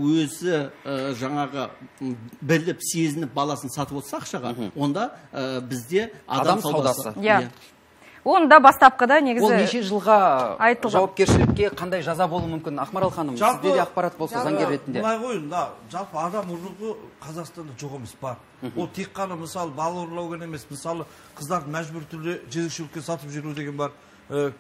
өзі жаңағы біліп, сезініп баласын сатып отырса ақшаға, онда бізде адам саудасы. Онда бастапқыда негізі... Ол неше жылға жауапкершілікке қандай жаза болуы мүмкін? Ақмарал ханым, сізде де ақпарат болса заңгер ретінде. Бұлай қойын, жалпы адам ұрлығы Қазақстанда жоқ емес бар. Ол тек қана мысалы бала ұрлау ғана емес, мысалы қыздарды мәжбүр түрде жезөкшелікке сатып жіберу деген бар.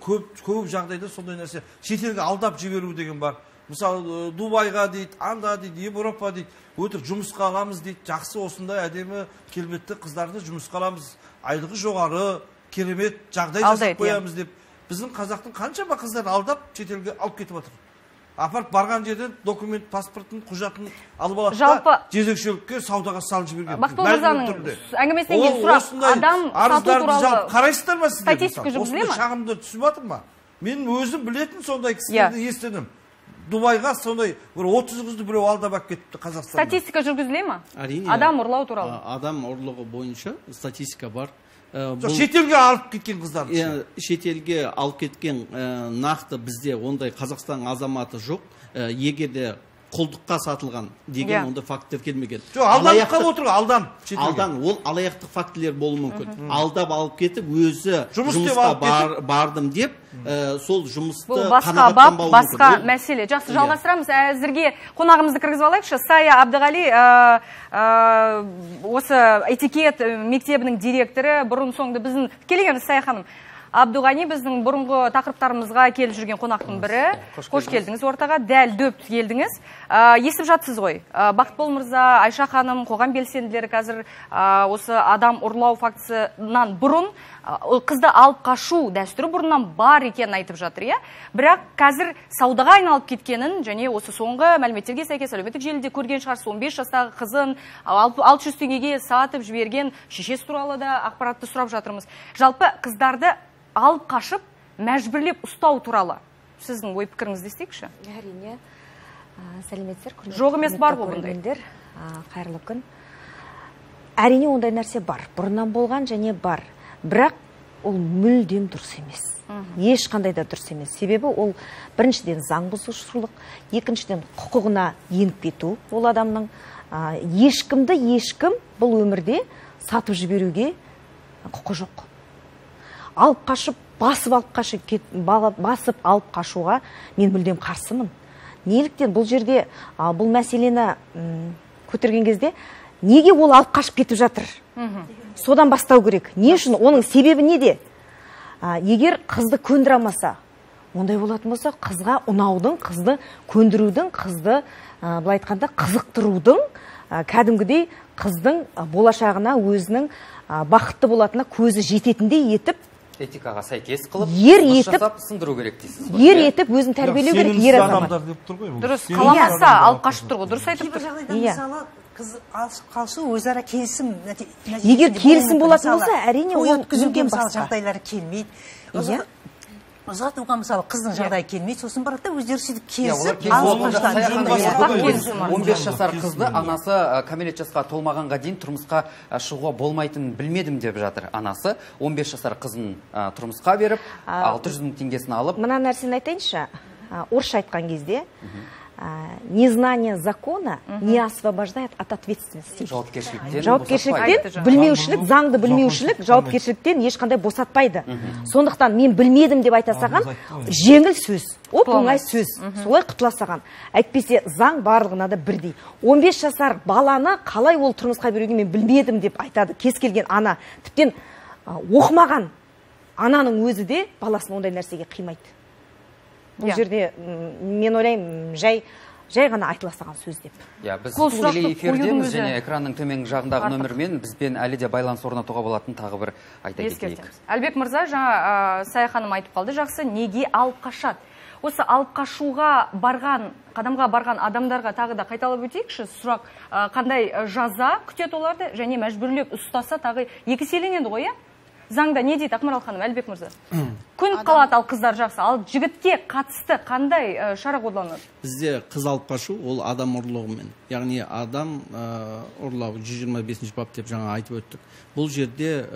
Көп жағдайда сондай нәрсе шетелге алдап жіберу деген бар. Мысалы Дубайға дейді, анда дейді, Европа дейді, өтір жұмысқа аламыз дейді, жақсы осындай әдемі келбетті қыздарды жұмысқа аламыз, айлығы жоғары, керемет жағдай жасап қоямыз деп. Біздің қазақтың қаншама қыздарды алдап шетелге алып кетіп жатыр. Апарып барған жерден документ, паспортын, құжатын алып алады да жезөкшелікке, саудаға салып жіберген. Бақыт Болмырзаның әңгімесінен кейін сұрақ, адам сату туралы қарайсыздар ма сіздер? Статистика жүргізіле ма? Шағымды түсіп жатыр ма? Мен өзім білетін сондай кісілерді естідім. Дубайға сондай бір отыз қызды біреу алдап алып кетіпті Қазақстанда. Статистика жүргізіле ма? Әрине. Адам ұрлау туралы. Адам ұрлығы бойынша статистика бар. Шетелге алып кеткен қыздар. Шетелге алып кеткен нақты бізде ондай Қазақстан азаматы жоқ. Егерде құлдыққа сатылған деген онда факттер келмеген. Жоқ, алданып қалып отыр, алдан. Алдан, ол алаяқтық фактілер болуы мүмкін. Алдап алып кетіп, өзі жұмысқа бардым деп, сол жұмысты қанағаттанбауы мүмкін. Басқа мәселе. Жақсы, жалғастырамыз. Әзірге қонағымызды кіргізіп алайықшы. Сая Абдығали, осы этикет мектебінің директоры, бұрын соңды біздің келгеніміз Сая ханым. Абдуғани біздің бұрынғы тақырыптарымызға келіп жүрген қонақтың бірі. Қош келдіңіз ортаға, дәл дөп келдіңіз. Естіп жатсыз ғой. Бақытбол мырза, Айша ханым, қоғам белсенділері қазір осы адам ұрлау фактісінен бұрын қызды алып қашу дәстүрі бұрыннан бар екенін айтып жатыр, иә. Бірақ қазір саудаға айналып кеткенін және осы соңғы мәліметтерге сәйкес әлеуметтік желіде көрген шығарсыз, он бес жастағы қызын алты жүз теңгеге сатып жіберген шешесі туралы да ақпаратты сұрап жатырмыз. Жалпы қыздарды алып қашып, мәжбүрлеп ұстау туралы сіздің ой пікіріңізді естейікші? Әрине, сәлеметсіздер. Жоқ емес бар ғой бұндай. Қайырлы күн. Әрине ондай нәрсе бар. Бұрыннан болған және бар. Бірақ ол мүлдем дұрыс емес. Ешқандай да дұрыс емес. Себебі ол біріншіден заң бұзушылық, екіншіден құқығына еніп кету ол адамның. Ешкімді ешкім бұл өмірде сатып жіберуге құқы жоқ. Алып қашып, басып алып қашып, басып алып қашуға мен мүлдем қарсымын. Неліктен бұл жерде бұл мәселені көтерген кезде неге ол алып қашып кетіп жатыр? Содан бастау керек. Не үшін? Оның себебі неде? Егер қызды көндіре алмаса, ондай болатын болса, қызға ұнаудың, қызды көндірудің, қызды былай айтқанда қызықтырудың, кәдімгідей қыздың болашағына өзінің бақытты болатынына көзі жететіндей етіп, этикаға сәйкес қылып, ер етіп, сындыру керек дейсіз. Ер етіп өзін тәрбиелеу керек ер азамат. Дұрыс, қаламаса алып қашып тұр ғой, дұрыс айтып тұр. Мысалы, қыз қалышу өзара келісім. Егер келісім болатын болса, әрине ол мүмкін басқа. Жағдайлары келмейді. Ұзатуға мысалы қыздың жағдайы келмейді, сосын барады да өздері сөйтіп келісіп, он бес жасар қызды анасы кәмелет жасқа толмағанға дейін тұрмысқа шығуға болмайтынын білмедім деп жатыр анасы. он бес жасар қызын тұрмысқа беріп, алты жүз мың теңгесін алып. Мына нәрсені айтайыншы, орысша айтқан кезде незнание закона не освобождает от ответственности. Жауапкершіліктен. Жауапкершіліктен, білмеушілік, заңды білмеушілік, жауапкершіліктен ешқандай босатпайды. Сондықтан мен білмедім деп айта саған, жеңіл сөз, оп оңай сөз, солай құтыла саған. Әйтпесе заң барлығына да бірдей. он бес жасар баланы қалай ол тұрмысқа беруге мен білмедім деп айтады кез келген ана. Тіптен оқымаған ананың өзі де баласын ондай нәрсеге қимайды. Бұл жерде мен ойлаймын жай жай ғана айтыла салған сөз деп. Біз тікелей эфирдеміз және экранның төменгі жағындағы нөмірмен бізбен әлі де байланыс орнатуға болатын тағы бір айта кетейік. Әлбек мырза, жаңа Сая ханым айтып қалды, жақсы, неге алып қашады? Осы алып қашуға барған, қадамға барған адамдарға тағы да қайталап өтейікші, сұрақ қандай жаза күтеді оларды және мәжбүрлеп ұстаса тағы екі еселенеді ғой, иә? Заңда не дейді, Ақмарал ханым, Әлбек мырза? Күн қалады ал қыздар жақсы, ал жігітке қатысты қандай шара қолданылады? Бізде қыз алып қашу, ол адам ұрлығымен. Яғни адам ұрлау жүз жиырма бесінші бап деп жаңа айтып өттік. Бұл жерде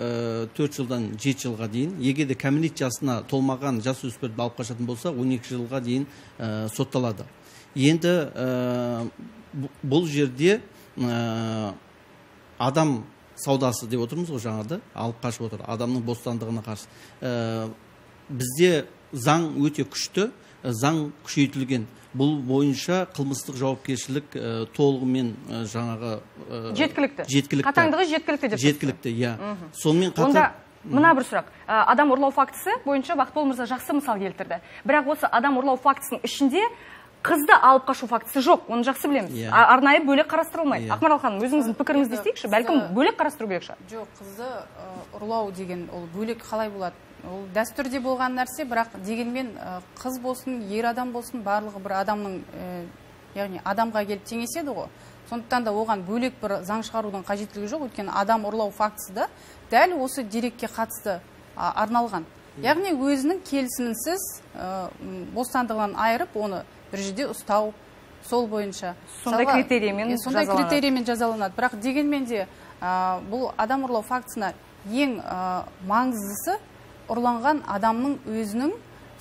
төрт жылдан жеті жылға дейін, егер де кәмелет жасына толмаған жасөспірімді алып қашатын болса, он екі жылға дейін сотталады. Енді бұл жерде адам саудасы деп отырмыз ғой жаңада, алып қашып отыр, адамның бостандығына қарсы. Бізде заң өте күшті, заң күшейтілген. Бұл бойынша қылмыстық жауапкершілік толығымен жаңағы жеткілікті. Қатаңдығы жеткілікті деп. Жеткілікті, иә. Сонымен қатар мына бір сұрақ. Адам ұрлау фактісі бойынша Бақытбол мырза жақсы мысал келтірді. Бірақ осы адам ұрлау фактісінің ішінде қызды алып қашу фактісі жоқ, оны жақсы білеміз. Арнайы бөлек қарастырылмайды. Ақмарал ханым, өзіңіздің пікіріңізді естейікші, бәлкім бөлек қарастыру керек шығар. Жоқ, қызды ұрлау деген ол бөлек қалай болады? Ол дәстүрде болған нәрсе, бірақ дегенмен қыз болсын, ер адам болсын, барлығы бір адамның, яғни адамға келіп теңеседі ғой. Сондықтан да оған бөлек бір заң шығарудың қажеттілігі жоқ, өйткені адам ұрлау фактісі да дәл осы дерекке қатысты арналған. Яғни өзінің келісімінсіз бостандығынан айырып, оны бір жерде ұстау, сол бойынша сондай критериймен сондай критериймен жазаланады. Бірақ дегенмен де бұл адам ұрлау фактісіне ең маңыздысы ұрланған адамның өзінің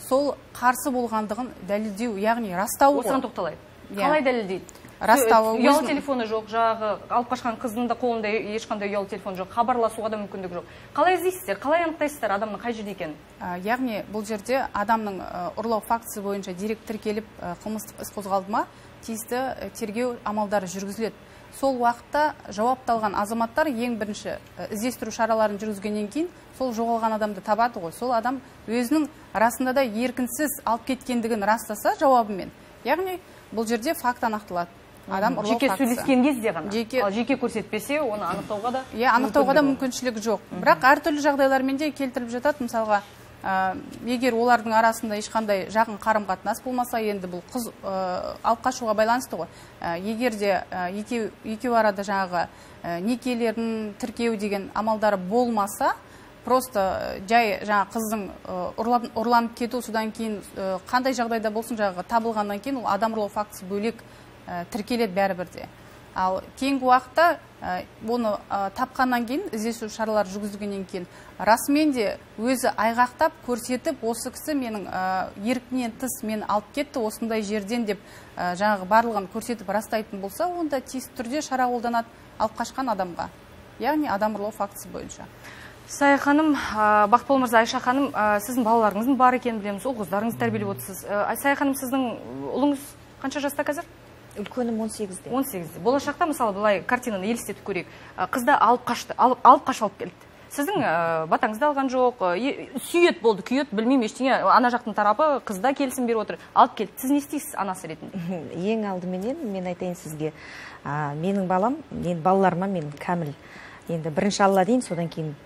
сол қарсы болғандығын дәлелдеу, яғни растауы. Осыған тоқталайық. Қалай дәлелдейді? Растауы. Ұялы телефоны жоқ, жағы алып қашқан қыздың да қолында ешқандай ұялы телефон жоқ, хабарласуға да мүмкіндік жоқ. Қалай іздейсіздер? Қалай анықтайсыздар адамның қай жерде екенін? Яғни бұл жерде адамның ұрлау фактісі бойынша дерек тіркеліп қылмыстық іс қозғалды ма, тиісті тергеу амалдары жүргізіледі. Сол уақытта жауапталған азаматтар ең бірінші іздестіру шараларын жүргізгеннен кейін сол жоғалған адамды табады ғой. Сол адам өзінің расында да еркінсіз алып кеткендігін растаса жауабымен. Яғни бұл жерде факт анықталады. Адам ұрлау фактісі. Жеке сөйлескен кезде ғана. Жеке, ал жеке көрсетпесе, оны анықтауға да иә, анықтауға да мүмкіншілік жоқ. Бірақ әртүрлі жағдайлармен де келтіріп жатады. Мысалға, егер олардың арасында ешқандай жақын қарым-қатынас болмаса, енді бұл қыз алып қашуға байланысты ғой. Егер де екеу арада жаңағы некелерін тіркеу деген амалдары болмаса, просто жай жаңа қыздың ұрланып кету, содан кейін қандай жағдайда болсын жаңағы табылғаннан кейін ол адам ұрлау фактісі бөлек тіркеледі бәрібірде. Ал кейінгі уақытта оны тапқаннан кейін, іздестіру шаралар жүргізілгеннен кейін, расымен де өзі айғақтап көрсетіп, осы кісі менің еркінен тыс мені алып кетті осындай жерден деп жаңағы барлығын көрсетіп растайтын болса, онда тиісті түрде шара қолданады алып қашқан адамға. Яғни адам ұрлау фактісі бойынша. Сая ханым, Бақытбол мырза, Айша ханым, сіздің балаларыңыздың бар екенін білеміз, ол қыздарыңыз тәрбиелеп отырсыз. Сая ханым, сіздің ұлыңыз қанша жаста қазір? Үлкенім он сегізде. он сегізде. Болашақта, мысалы, былай картинаны елестетіп көрейік. Қызды алып қашты, алып қашып алып келді. Сіздің батаңызды алған жоқ, сүйет болды, күйет, білмеймін ештеңе, ана жақтың тарапы қызда келісім беріп отыр, алып келді. Сіз не істейсіз анасы ретінде? Ең алдыменен мен айтайын сізге, менің балам, енді балаларыма мен кәміл. Енді бірінші Алла дейін, содан кейін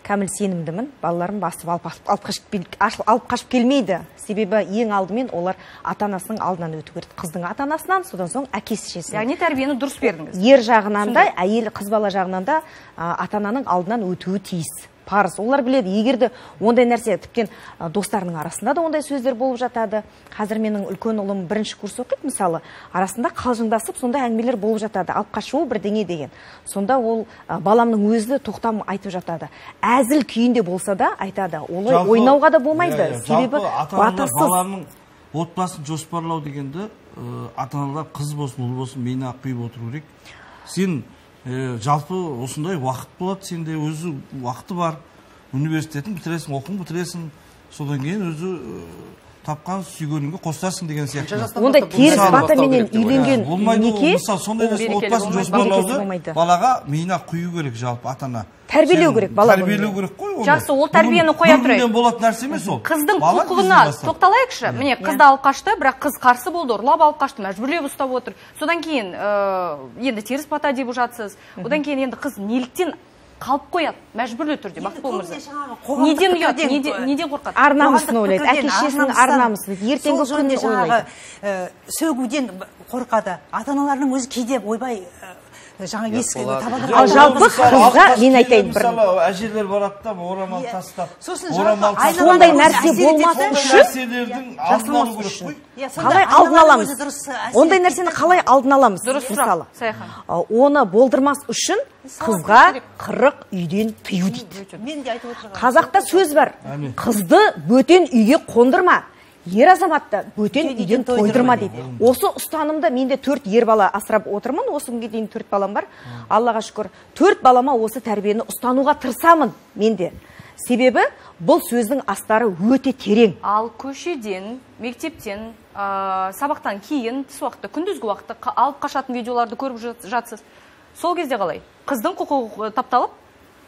кәміл сенімдімін, балаларым басып алып қашып келмейді. Себебі ең алдымен олар ата-анасының алдынан өту керек. Қыздың ата-анасынан, содан соң әкесі шешесінен. Яғни тәрбиені дұрыс бердіңіз. Ер жағынан да, әйел қыз бала жағынан да ата-ананың алдынан өтуі тиіс. Парыз. Олар біледі, егерде ондай нәрсе, тіптен достарының арасында да ондай сөздер болып жатады. Қазір менің үлкен ұлым бірінші курс оқиды, мысалы, арасында қалжыңдасып, сондай әңгімелер болып жатады. Алып қашуы бірдеңе деген. Сонда ол баламның өзі тоқтам айтып жатады. Әзіл күйінде болса да айтады. Олай ойнауға да болмайды. Себебі батасыз. Баланың отбасын жоспарлау дегенді ата-аналар қыз болсын, ұл болсын, мені құйып отыру керек. Сен жалпы осындай уақыт болады, сенде өзі уақыты бар, университетін бітіресің, оқуын бітіресің, содан кейін өзі тапқан сүйгеніңге қосасың деген сияқты. Ондай теріс батаменен үйленген неке, сондай отбасын жоспарлауды балаға миына құю керек жалпы ата-ана. Тәрбиелеу керек бала. Тәрбиелеу керек қой оны. Жақсы, ол тәрбиені қоя тұрайық. Бүгіннен болады нәрсе емес ол. Қыздың құқығына тоқталайықшы. Міне, қызды алып қашты, бірақ қыз қарсы болды, ұрлап алып қашты, мәжбүрлеп ұстап отыр. Содан кейін енді теріс бата деп жатсыз. Одан кейін енді қыз неліктен қалып қояды, мәжбүрлі түрде, Бақытбол мырза. Неден ұят, неден қорқады? Ар намысын ойлайды, әке-шешесінің ар намысын, ертеңгі күнін ойлайды. Сөгуден қорқады. Ата-аналарының өзі кейде ойбай жаңа ескі табады. Ал жалпы қызға мен айтайын бір. Мысалы, әжелер барады да орамал тастап, орамал сондай нәрсе болмасын үшін нәрселердің алдын алу керек қой. Қалай алдын аламыз? Ондай нәрсені қалай алдын аламыз? Мысалы, Саяхан. Оны болдырмас үшін қызға қырық үйден тыю дейді. Қазақта сөз бар. Қызды бөтен үйге қондырма. Ер азаматты бөтен үйден тойдырма дейді. Осы ұстанымда менде төрт ер бала асырап отырмын. Осы күнге дейін төрт балам бар. Аллаға шүкір. Төрт балама осы тәрбиені ұстануға тырысамын менде. Себебі бұл сөздің астары өте терең. Ал көшеден, мектептен, сабақтан кейін, түс уақытта, күндізгі уақытта алып қашатын видеоларды көріп жатсыз. Сол кезде қалай? Қыздың құқығы тапталып,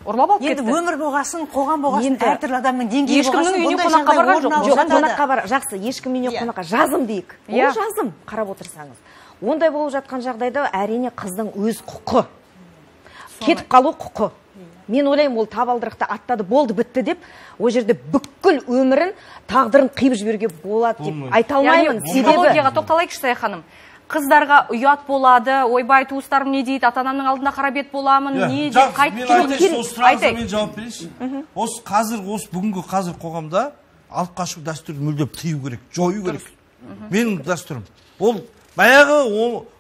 ұрлап алып кетті. Енді өмір болғасын, қоғам болғасын, әртүрлі адамның деңгейі болғасын. Ешкімнің үйіне қонаққа барған жоқ. Жоқ, қонаққа бар. Жақсы, ешкім үйіне қонаққа жазым дейік. Ол жазым, қарап отырсаңыз. Ондай болып жатқан жағдайда әрине қыздың өз құқы. Кетіп қалу құқы. Мен ойлаймын, ол табалдырықты аттады, болды, бітті деп, о жерде бүкіл өмірін, тағдырын қиып жіберуге болады деп айта алмаймын. Психологияға тоқталайықшы, Сая ханым. Қыздарға ұят болады, ойбай туыстарым не дейді, ата-анамның алдында қара бет боламын, не деп қайтып келу керек. Мен жауап берейінші. Осы қазір, осы бүгінгі қазір қоғамда алып қашу дәстүрін мүлдем тыю керек, жою керек. Менің дәстүрім. ол баяғы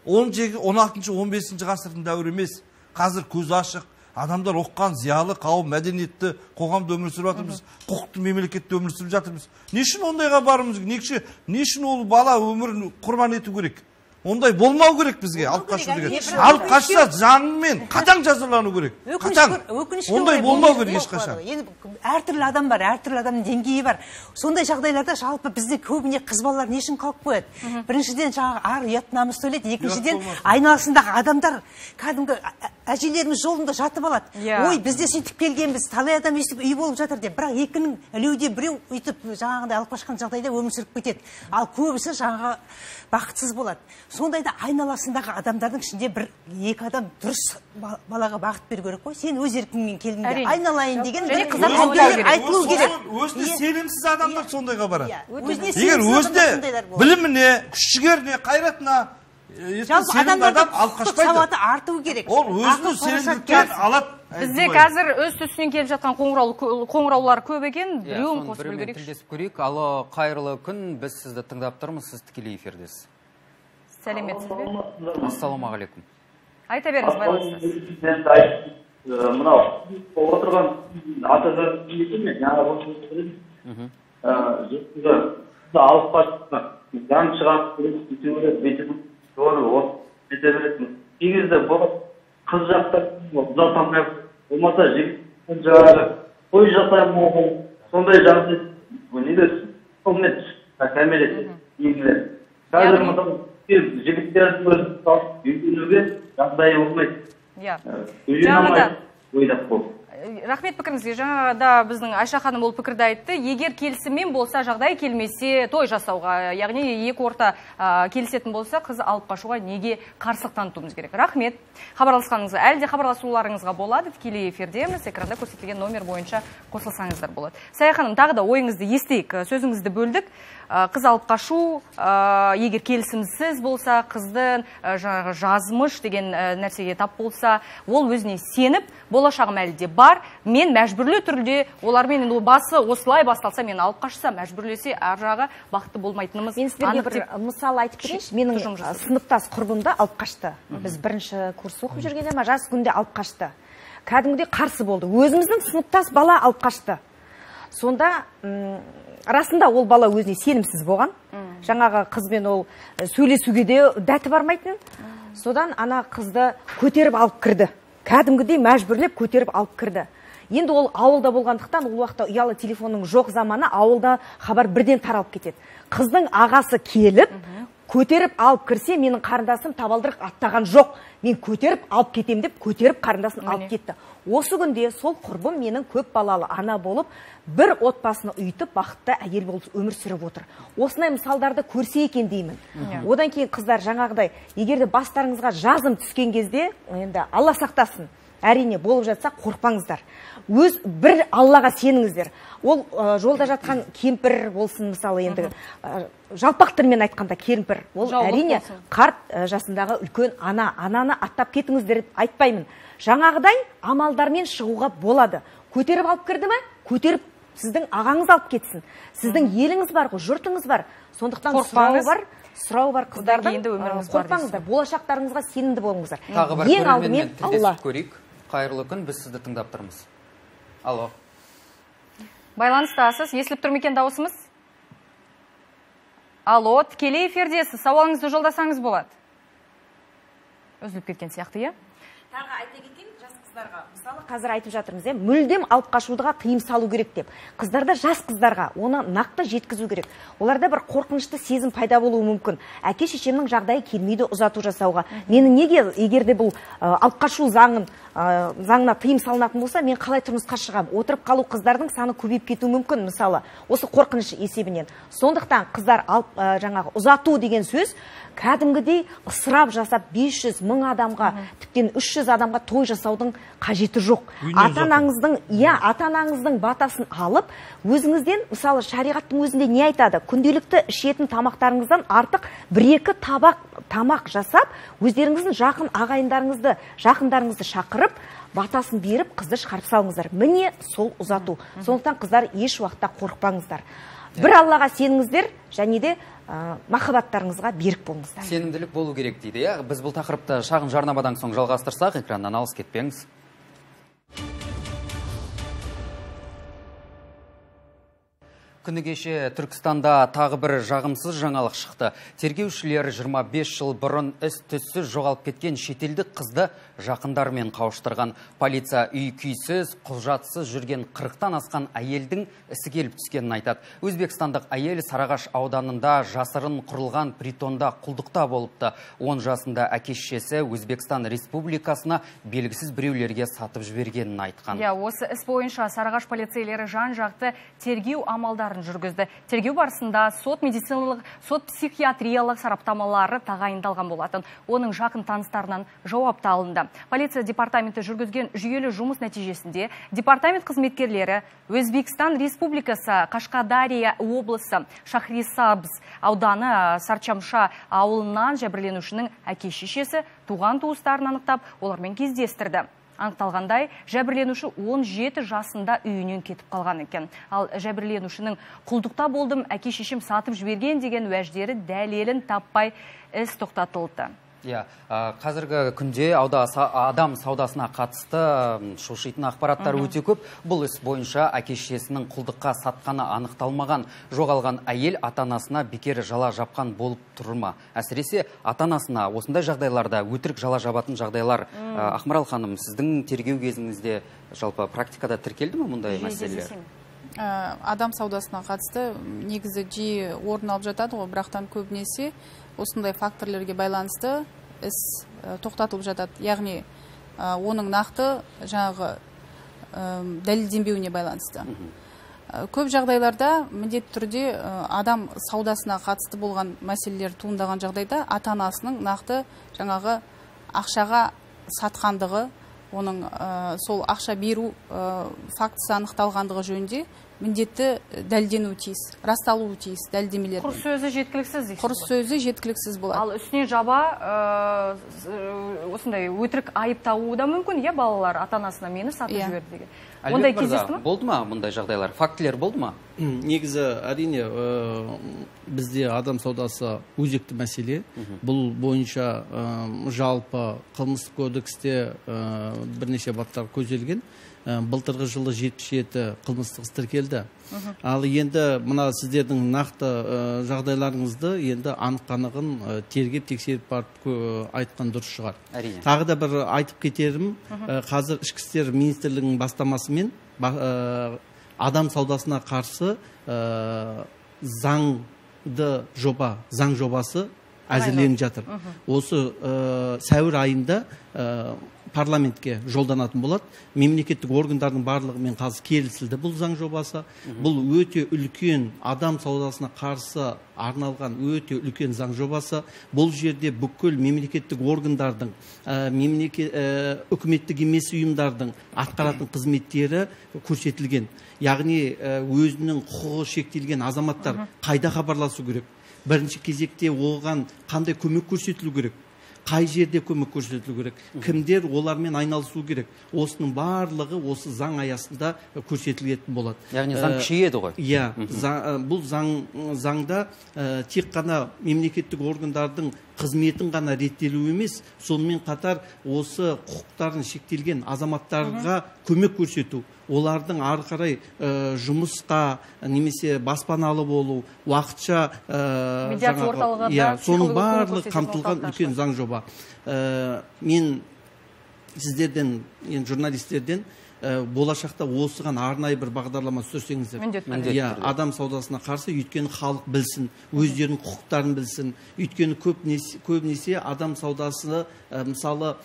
он алтыншы он бесінші ғасырдың дәуірі емес. Қазір көз ашық, адамдар оққан, зиялы қауым, мәдениетті қоғамда өмір сүріп жатырмыз, құқықты мемлекетте өмір сүріп жатырмыз. Не үшін ондайға барымыз? Не үшін ол бала өмірін құрбан ету керек? Ондай болмау керек бізге, алып қашу деген. Алып қашса заңмен қатаң жазалану керек. Қатаң. Ондай болмау керек ешқашан. Әртүрлі адам бар, әртүрлі адамның деңгейі бар. Сондай жағдайларда жалпы бізде көбіне қыз балалар не үшін қалып қояды? Біріншіден жаңағы ар ұят намыс сөйлейді, екіншіден айналасындағы адамдар кәдімгі әжелеріміз жолында жатып алады. Ой, бізде сөйтіп келгенбіз, талай адам өйстіп үй болып жатыр деп. Бірақ екінің ілеуде біреу өйтіп жаңағыдай алып қашқан жағдайда өмір сүріп кетеді. Ал көбісі жаңағы бақытсыз болады. Сондайда айналасындағы адамдардың ішінде бір екі адам дұрыс балаға бағыт беру керек қой. Сен өз еркіңмен келдің, айналайын деген айтылу керек. Өзіне сенімсіз адамдар сондайға барады. Егер өзіне біліміне, күш-жігеріне, қайратына жалпы адамдардың құқықтық сауаты арту керек. Ол өзінің сенімділікпен алады. Бізде қазір өз үстінен келіп жатқан қоңыраулар көп екен, біреуін қосып білгерек. Тілдесіп көрейік. Алло, қайырлы күн, біз сізді тыңдап тұрмыз, сіз тікелей эфирдесіз. Сәлеметсіз бе? Ассалаумағалейкум. Айта беріңіз, байланыстасыз. Мынау отырған ата-ана мен жаңа жеткізді алып қашты. Заң шығарып бетіп бете беретін. Кей кезде қыз жақта ұзатамай болмаса жігіттен жаңағы той жасаймын, сондай жағдай не дерсің? Сонымен кәмелет егілер. Қазір мысалы жігіттерді өзін салып үйленуге жағдайы болмайды. Жаңағыда ойлап болды. Рахмет пікіріңізге. Жаңағыда біздің Айша ханым ол пікірді айтты. Егер келісіммен болса, жағдай келмесе той жасауға, яғни екі орта келісетін болса, қыз алып қашуға неге қарсылық танытуымыз керек? Рахмет. Хабарласқаныңызға, әлде хабарласуларыңызға болады. Тікелей эфирдеміз, экранда көрсетілген номер бойынша қосылсаңыздар болады. Сая ханым, тағы да ойыңызды естейік. Сөзіңізді бөлдік. Қыз алып қашу, егер келісімсіз болса, қыздың жазмыш деген нәрсеге тап болса, ол өзіне сеніп, болашағым әлі де бар, мен мәжбүрлі түрде, олармен басы осылай басталса, мен алып қашса, мәжбүрлесе, ар жағы бақытты болмайтынымыз. Мен сіздерге бір мысал айтып берейінші, менің сыныптас құрбымда алып қашты. Біз бірінші курс оқып жүргенде ма, жас күнде алып қашты. Кәдімгідей қарсы болды. Өзіміздің сыныптас бала алып қашты. Сонда расында ол бала өзіне сенімсіз болған. Жаңағы қызбен ол сөйлесуге де дәті бармайтын. Содан ана қызды көтеріп алып кірді. Кәдімгідей мәжбүрлеп көтеріп алып кірді. Енді ол ауылда болғандықтан, ол уақытта ұялы телефонның жоқ заманы, ауылда хабар бірден таралып кетеді. Қыздың ағасы келіп, көтеріп алып кірсе, менің қарындасым табалдырық аттаған жоқ. Мен көтеріп алып кетем деп, көтеріп қарындасын алып кетті. Осы күнде сол құрбым менің көп балалы ана болып, бір отбасыны үйітіп, бақытты әйел болып өмір сүріп отыр. Осындай мысалдарды көрсе екен деймін. Одан кейін қыздар жаңағыдай, егерде бастарыңызға жазым түскен кезде, енді Алла сақтасын, әрине болып жатса қорықпаңыздар. Өз бір Аллаға сеніңіздер. Ол жолда жатқан кемпір болсын, мысалы енді жалпақ тілмен айтқанда кемпір, ол әрине қарт жасындағы үлкен ана, ананы аттап кетіңіздер деп айтпаймын. Жаңағыдай амалдармен шығуға болады. Көтеріп алып кірді ме? Көтеріп сіздің ағаңыз алып кетсін. Сіздің еліңіз бар ғой, жұртыңыз бар. Сондықтан сұрау бар, сұрау бар қыздардан. Қорықпаңыздар, болашақтарыңызға сенімді болыңыздар. Тағы бір көрерменмен тілдесіп көрейік. Қайырлы күн, біз сізді тыңдап тұрмыз. Алло. Байланыстасыз, естіліп тұр ма екен дауысымыз? Алло, тікелей эфирдесіз, сауалыңызды жолдасаңыз болады. Үзіліп кеткен сияқты, иә? Тағы айта кетейін, жас қыздарға, мысалы қазір айтып жатырмыз, е, мүлдем алып қашуға тыйым салу керек деп. Қыздарда жас қыздарға оны нақты жеткізу керек. Оларда бір қорқынышты сезім пайда болуы мүмкін. Әке шешемнің жағдайы келмейді ұзату жасауға. Мені неге, егерде бұл алып қашу заңын заңына тыйым салынатын болса, мен қалай тұрмысқа шығам? Отырып қалу қыздардың саны көбейіп кетуі мүмкін, мысалы, осы қорқыныш есебінен. Сондықтан қыздар алып жаңағы ұзату деген сөз кәдімгідей ысырап жасап бес жүз мың адамға, тіптен үш жүз адамға той жасаудың қажеті жоқ. Ата-анаңыздың, иә, ата-анаңыздың батасын алып, өзіңізден, мысалы, шариғаттың өзінде не айтады? Күнделікті ішетін тамақтарыңыздан артық бір-екі табақ тамақ жасап, өздеріңіздің жақын ағайындарыңызды, жақындарыңызды шақырып, батасын беріп, қызды шығарып салыңыздар. Міне сол ұзату. Сондықтан қыздар еш уақытта қорықпаңыздар. бір Аллаға сеніңіздер, және де махаббаттарыңызға берік болыңыздар. Сенімділік болу керек дейді. Біз бұл тақырыпты шағын жарнамадан соң жалғастырсақ, экраннан алыс кетпеңіз. Күні кеше Түркістанда тағы бір жағымсыз жаңалық шықты. Тергеушілер жиырма бес жыл бұрын із-түзсіз жоғалып кеткен шетелдік қызды жақындарымен қауыштырған. Полиция үй-күйсіз, құжатсыз жүрген қырықтан асқан әйелдің ісі келіп түскенін айтады. Өзбекстандық әйел Сарыағаш ауданында жасырын құрылған притонда құлдықта болыпты. он жасында әке-шешесі Өзбекстан Республикасына белгісіз біреулерге сатып жібергенін айтқан. Я, осы іс бойынша Сарыағаш полицейлері жан-жақты тергеу амалдарын жүргізді. Тергеу барысында сот медициналық, сот психиатриялық сараптамалары тағайындалған болатын. Оның жақын таныстарынан жауапты алынды. Полиция департаменті жүргізген жүйелі жұмыс нәтижесінде департамент қызметкерлері Өзбекстан Республикасы Қашқадария облысы Шахрисабз ауданы Сарчамша ауылынан жәбірленушінің әке-шешесі туған туыстарын анықтап, олармен кездестірді. Анықталғандай, жәбірленуші он жеті жасында үйінен кетіп қалған екен. Ал жәбірленушінің құлдықта болдым, әке-шешем сатып жіберген деген уәждері дәлелін таппай іс тоқтатылды. Иә, қазіргі күнде адам саудасына қатысты шошитын ақпараттар өте көп. Бұл іс бойынша әке-шешесінің құлдыққа сатқаны анықталмаған. Жоғалған әйел ата-анасына бекер жала жапқан болып тұр ма? Әсіресе ата-анасына осындай жағдайларда өтірік жала жабатын жағдайлар. Ақмарал ханым, сіздің тергеу кезіңізде жалпы практикада тіркелді ме мұндай мәселелер? Адам саудасына қатысты негізі жиі орын алып жатады ғой, бірақтан көбінесе осындай факторлерге байланысты іс тоқтатылып жатады. Яғни оның нақты жаңағы дәлелденбеуіне байланысты. Көп жағдайларда міндетті түрде адам саудасына қатысты болған мәселелер туындаған жағдайда ата-анасының нақты жаңағы ақшаға сатқандығы, оның сол ақша беру фактісі анықталғандығы жөнінде міндетті дәлелденуі тиіс, расталуы тиіс дәлелдемелер. Құр сөзі жеткіліксіз дейсіз. Құр сөзі жеткіліксіз болады. Ал үстіне жаба осындай өтірік айып тағуы да мүмкін, иә, балалар ата-анасына мені сатып жіберді деген. Ондай кездесті ме? Болды ма мұндай жағдайлар? Фактілер болды ма? Негізі әрине бізде адам саудасы өзекті мәселе. Бұл бойынша жалпы қылмыстық кодексте бірнеше баптар көзделген. Былтырғы жылы жетпіс жеті қылмыстық іс тіркелді. Ал енді мына сіздердің нақты жағдайларыңызды енді анық-қанығын тергеп тексеріп барып айтқан дұрыс шығар. Тағы да бір айтып кетерім, қазір ішкі істер министрлігінің бастамасымен адам саудасына қарсы заңды жоба, заң жобасы әзірленіп жатыр. Осы сәуір айында парламентке жолданатын болады. Мемлекеттік органдардың барлығымен қазір келісілді бұл заң жобасы. Бұл өте үлкен адам саудасына қарсы арналған өте үлкен заң жобасы. Бұл жерде бүкіл мемлекеттік органдардың, үкіметтік емес ұйымдардың атқаратын қызметтері көрсетілген. Яғни өзінің құқығы шектелген азаматтар қайда хабарласу керек? Бірінші кезекте оған қандай көмек көрсетілу керек? Қай жерде көмек көрсетілу керек? Кімдер олармен айналысу керек? Осының барлығы осы заң аясында көрсетілетін болады. Яғни заң күшейеді ғой. Иә, бұл заңда тек қана мемлекеттік органдардың қызметін ғана реттелу емес, сонымен қатар осы құқықтарын шектелген азаматтарға көмек көрсету, олардың ары қарай жұмысқа немесе баспаналы болу, уақытша соның барлығы қамтылған үлкен заң жоба. Мен сіздерден, журналистерден болашақта осыған арнайы бір бағдарлама түсірсеңіздер. Адам саудасына қарсы, өйткені халық білсін, өздерінің құқықтарын білсін. Өйткені көбінесе адам саудасы мысалы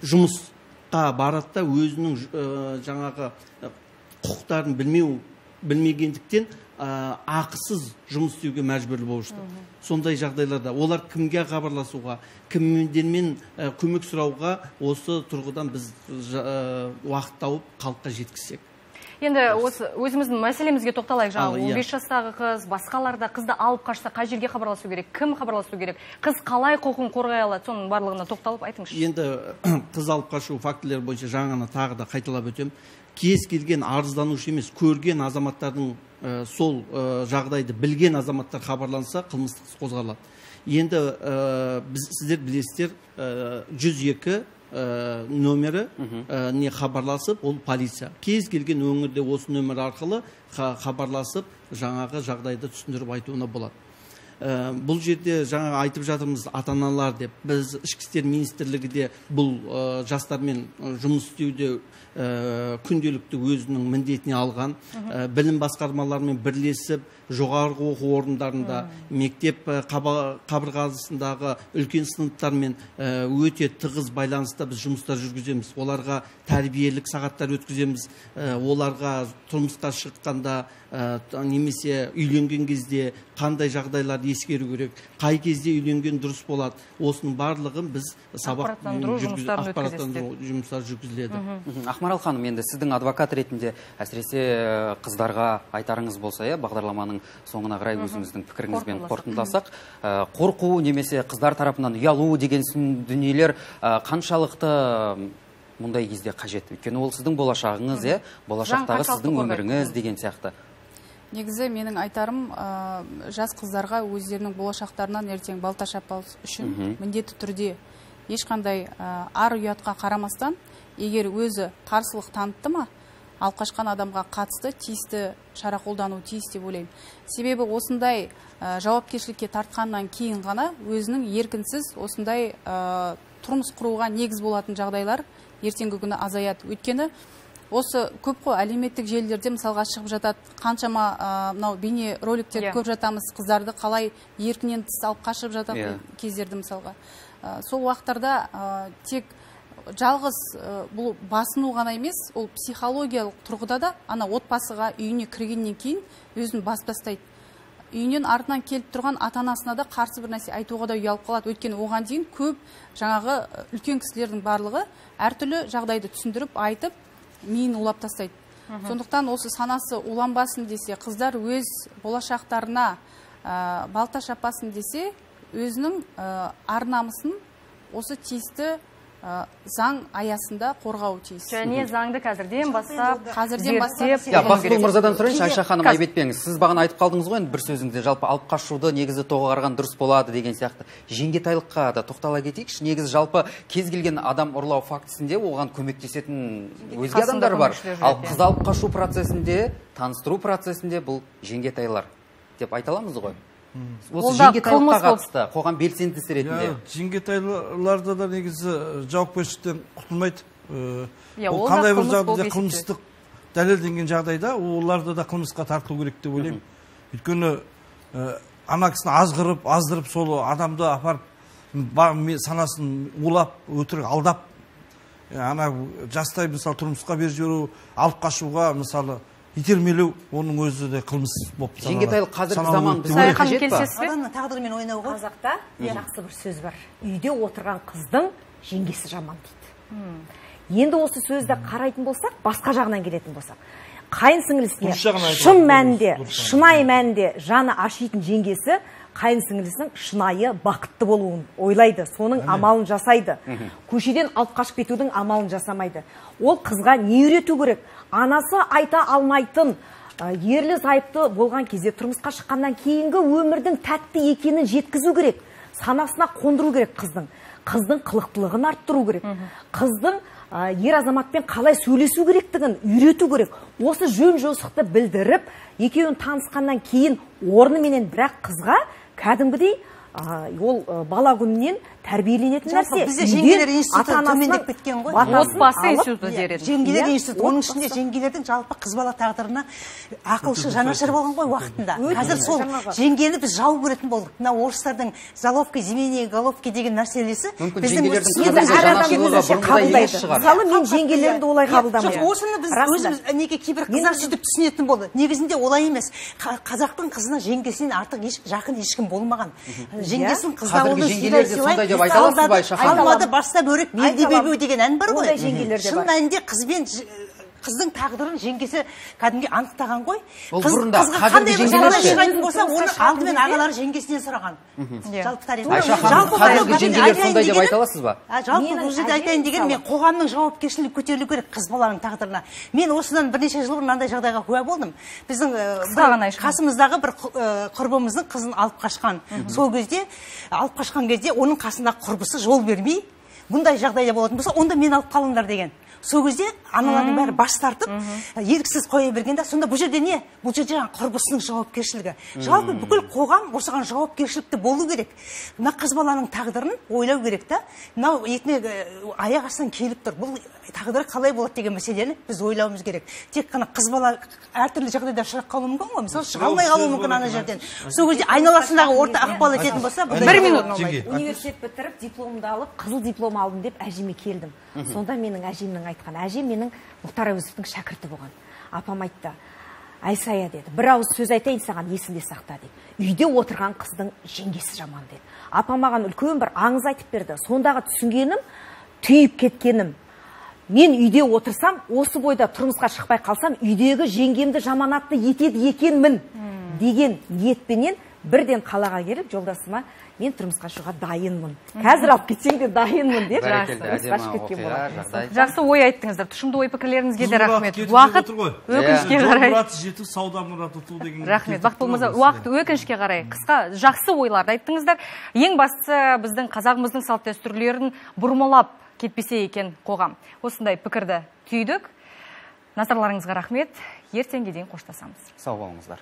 жұмысқа барады да өзінің жаңағы құқықтарын білмеу білмегендіктен ақысыз жұмыс істеуге мәжбүрлі болышты. Сондай жағдайларда олар кімге хабарласуға, кімдермен көмек сұрауға осы тұрғыдан біз уақыт тауып халыққа жеткізсек. Енді осы өзіміздің мәселемізге тоқталайық. Жаңа он бес жастағы қыз, басқаларда қызды алып қашса қай жерге хабарласу керек, кім хабарласу керек, қыз қалай құқығын қорғай алады, соның барлығына тоқталып айтыңызшы. Енді қыз алып қашу фактілері бойынша жаңаны тағы да қайталап өтем. Кез келген арызданушы емес, көрген азаматтардың сол жағдайды білген азаматтар хабарланса қылмыстық іс қозғалады. Енді біз сіздер білесіздер жүз екі нөмірі не хабарласып, ол полиция. Кез келген өңірде осы нөмір арқылы хабарласып, жаңағы жағдайды түсіндіріп айтуына болады. Бұл жерде жаңа айтып жатырмыз ата-аналар деп. Біз ішкі істер министрлігі де бұл жастармен жұмыс істеуде күнделікті өзінің міндетіне алған. Білім басқармаларымен бірлесіп, жоғарғы оқу орындарында, мектеп қабырғасындағы үлкен сыныптармен өте тығыз байланыста біз жұмыстар жүргіземіз. Оларға тәрбиелік сағаттар өткіземіз. Оларға тұрмысқа шыққанда немесе үйленген кезде қандай жағдайлар ескеру керек, қай кезде үйленген дұрыс болады. Осының барлығын біз сабақ ақпараттандыру жұмыстары жүргізіледі. Ақмарал ханым, енді сіздің адвокат ретінде әсіресе қыздарға айтарыңыз болса, бағдарламаның соңына қарай өзіңіздің пікіріңізбен қорытындыласақ, қорқу немесе қыздар тарапынан ұялу деген дүниелер қаншалықты мұндай кезде қажет? Өйткені ол сіздің болашағыңыз, болашақтағы сіздің өміріңіз деген сияқты. Негізі менің айтарым, жас қыздарға өздерінің болашақтарынан ертең балта шаппау үшін міндетті түрде ешқандай ар ұятқа қарамастан, егер өзі қарсылық танытты ма, алып қашқан адамға қатысты тиісті шара қолдану тиіс деп ойлаймын. Себебі осындай жауапкершілікке тартқаннан кейін ғана өзінің еркінсіз осындай тұрмыс құруға негіз болатын жағдайлар ертеңгі күні азаяды. Өйткені осы көп қой әлеуметтік желілерде мысалға шығып жатады, қаншама мынау бейне роликтер көп жатамыз, қыздарды қалай еркінен тыс алып қашып жатады кездерді мысалға. Сол уақыттарда тек жалғыз бұл басыну ғана емес, ол психологиялық тұрғыда да ана отбасыға үйіне кіргеннен кейін өзін бас тастайды. Үйінен артынан келіп тұрған ата-анасына да қарсы бір нәрсе айтуға да ұялып қалады. Өйткені оған дейін көп жаңағы үлкен кісілердің барлығы әртүрлі жағдайды түсіндіріп айтып миын улап тастайды. Сондықтан осы санасы уланбасын десе, қыздар өз болашақтарына балта шаппасын десе, өзінің ар намысын осы тиісті заң аясында қорғау тиіс. Және заңды қазірден бастап, қазірден бастап. Бақытгүл мырзадан сұрайыншы, Айша ханым, айбетпеңіз. Сіз бағана айтып қалдыңыз ғой, бір сөзіңізде жалпы алып қашуды негізі тоғарған дұрыс болады деген сияқты. Жеңгетайлыққа да тоқтала кетейікші. Негізі жалпы кез келген адам ұрлау фактісінде оған көмектесетін өзге адамдар бар. Ал қыз алып қашу процесінде, таныстыру процесінде бұл жеңгетайлар деп айта аламыз ғой. Осы жеңгетайлыққа қатысты қоғам белсендісі ретінде. Жеңгетайларда да негізі жауапкершіліктен құтылмайды. Ол қандай бір жағдайда қылмыстық дәлелденген жағдайда оларды да қылмысқа тартылу керек деп ойлаймын. Өйткені ана кісіні азғырып, аздырып, сол адамды апарып санасын улап, өтірік алдап, ана жастай мысалы тұрмысқа беріп жіберу, алып қашуға мысалы итермелеу, оның өзі де қылмыс болып саналады. Жеңгетайлық қазіргі заман бізге қажет па? Адамның тағдырымен ойнауға. Қазақта жақсы бір сөз бар. Үйде отырған қыздың жеңгесі жаман дейді. Енді осы сөзді қарайтын болсақ, басқа жағынан келетін болсақ, қайын сіңілісіне шын мәнінде, шынайы мәнінде жаны ашитын жеңгесі қайын сіңілісінің шынайы бақытты болуын ойлайды, соның амалын жасайды. Көшеден алып қашып кетудің амалын жасамайды. Ол қызға не үйрету керек? Анасы айта алмайтын, ерлі зайыпты болған кезде тұрмысқа шыққаннан кейінгі өмірдің тәтті екенін жеткізу керек. Санасына қондыру керек қыздың. Қыздың қылықтылығын арттыру керек. Қыздың ер азаматпен қалай сөйлесу керектігін үйрету керек. Осы жөн жосықты білдіріп, екеуін танысқаннан кейін орныменен бірақ қызға кәдімгідей ол бала күнінен тәрбиеленетін нәрсе. Бізде жеңгелер институты төмендеп кеткен ғой. Отбасы институты дереді. Жеңгелер институты. Оның ішінде жеңгелердің жалпы қыз бала тағдырына ақылшы жанашыр болған ғой уақытында. Қазір сол жеңгені біз жау көретін болдық. Мына орыстардың заловка, земение головки деген нәрселесі біздің өзімізше қабылдайды. Мысалы мен жеңгелерімді олай қабылдамаймын. Осыны біз өзіміз неге кейбір қыздар сөйтіп түсінетін болды. Негізінде олай емес. Қазақтың қызына жеңгесінен артық жақын ешкім болмаған. Жеңгесін қыздауылы сыйлай Алмады баста бөрік белде бебеу деген ән бар ғой. Шын мәнінде қызбен қыздың тағдырын жеңгесі кәдімгі анықтаған ғой. Ол бұрында қызға қандай бір жағдай шығатын болса, оны алдымен ағалары жеңгесінен сұраған. Жалпы тарихта. Айша ханым, қазіргі жеңгелер сондай деп айта аласыз ба? Жалпы бұл жерде айтайын деген, мен қоғамның жауапкершілігі көтерілу керек қыз баланың тағдырына. Мен осыдан бірнеше жыл бұрын мынандай жағдайға куә болдым. Біздің қасымыздағы бір құрбымыздың қызын алып қашқан. Сол кезде алып қашқан кезде оның қасындағы құрбысы жол бермей, бұндай жағдайда болатын болса, онда мен алып қалыңдар деген. Сол кезде аналардың бәрі бас тартып, еріксіз қоя бергенде, сонда бұл жерде не? Бұл жерде құрбысының жауапкершілігі. Жалпы бүкіл қоғам осыған жауапкершілікті болу керек. Мына қыз баланың тағдырын ойлау керек та. Мынау етіне аяқ астынан келіп тұр. Бұл тағдыры қалай болады деген мәселені біз ойлауымыз керек. Тек қана қыз бала әртүрлі жағдайда ұшырап қалуы мүмкін ғой. Мысалы, шыға алмай қалуы мүмкін ана жерден. Сол кезде айналасындағы орта ықпал ететін болса, бір минут. Университет бітіріп, дипломымды алып, қызыл диплом алдым деп әжеме келдім. Сонда менің әжемнің айтқан, әжем менің Мұхтар Әуезовтің шәкірті болған. Апам айтты, Айсая деді, бір ауыз сөз айтайын саған, есіңде сақта деді. Үйде отырған қыздың жеңгесі жаман деді. Апам маған үлкен бір аңыз айтып берді. Сондағы түсінгенім, түйіп кеткенім. Мен үйде отырсам, осы бойда тұрмысқа шықпай қалсам, үйдегі жеңгемді жаманатты етеді екенмін деген ниетпенен бірден қалаға келіп, жолдасыма мен тұрмысқа шығуға дайынмын. Қазір алып кетсең де дайынмын деп. Жақсы ой айттыңыздар. Тұшымды ой пікірлеріңізге де рахмет. Уақыт өкінішке қарай. Рахмет. Бақыт болмаса, уақыт өкінішке қарай. Қысқа жақсы ойларды айттыңыздар. Ең бастысы біздің қазағымыздың салт дәстүрлерін бұрмалап кетпесе екен қоғам. Осындай пікірді түйдік. Назарларыңызға рахмет. Ертеңге дейін қоштасамыз. Сау болыңыздар.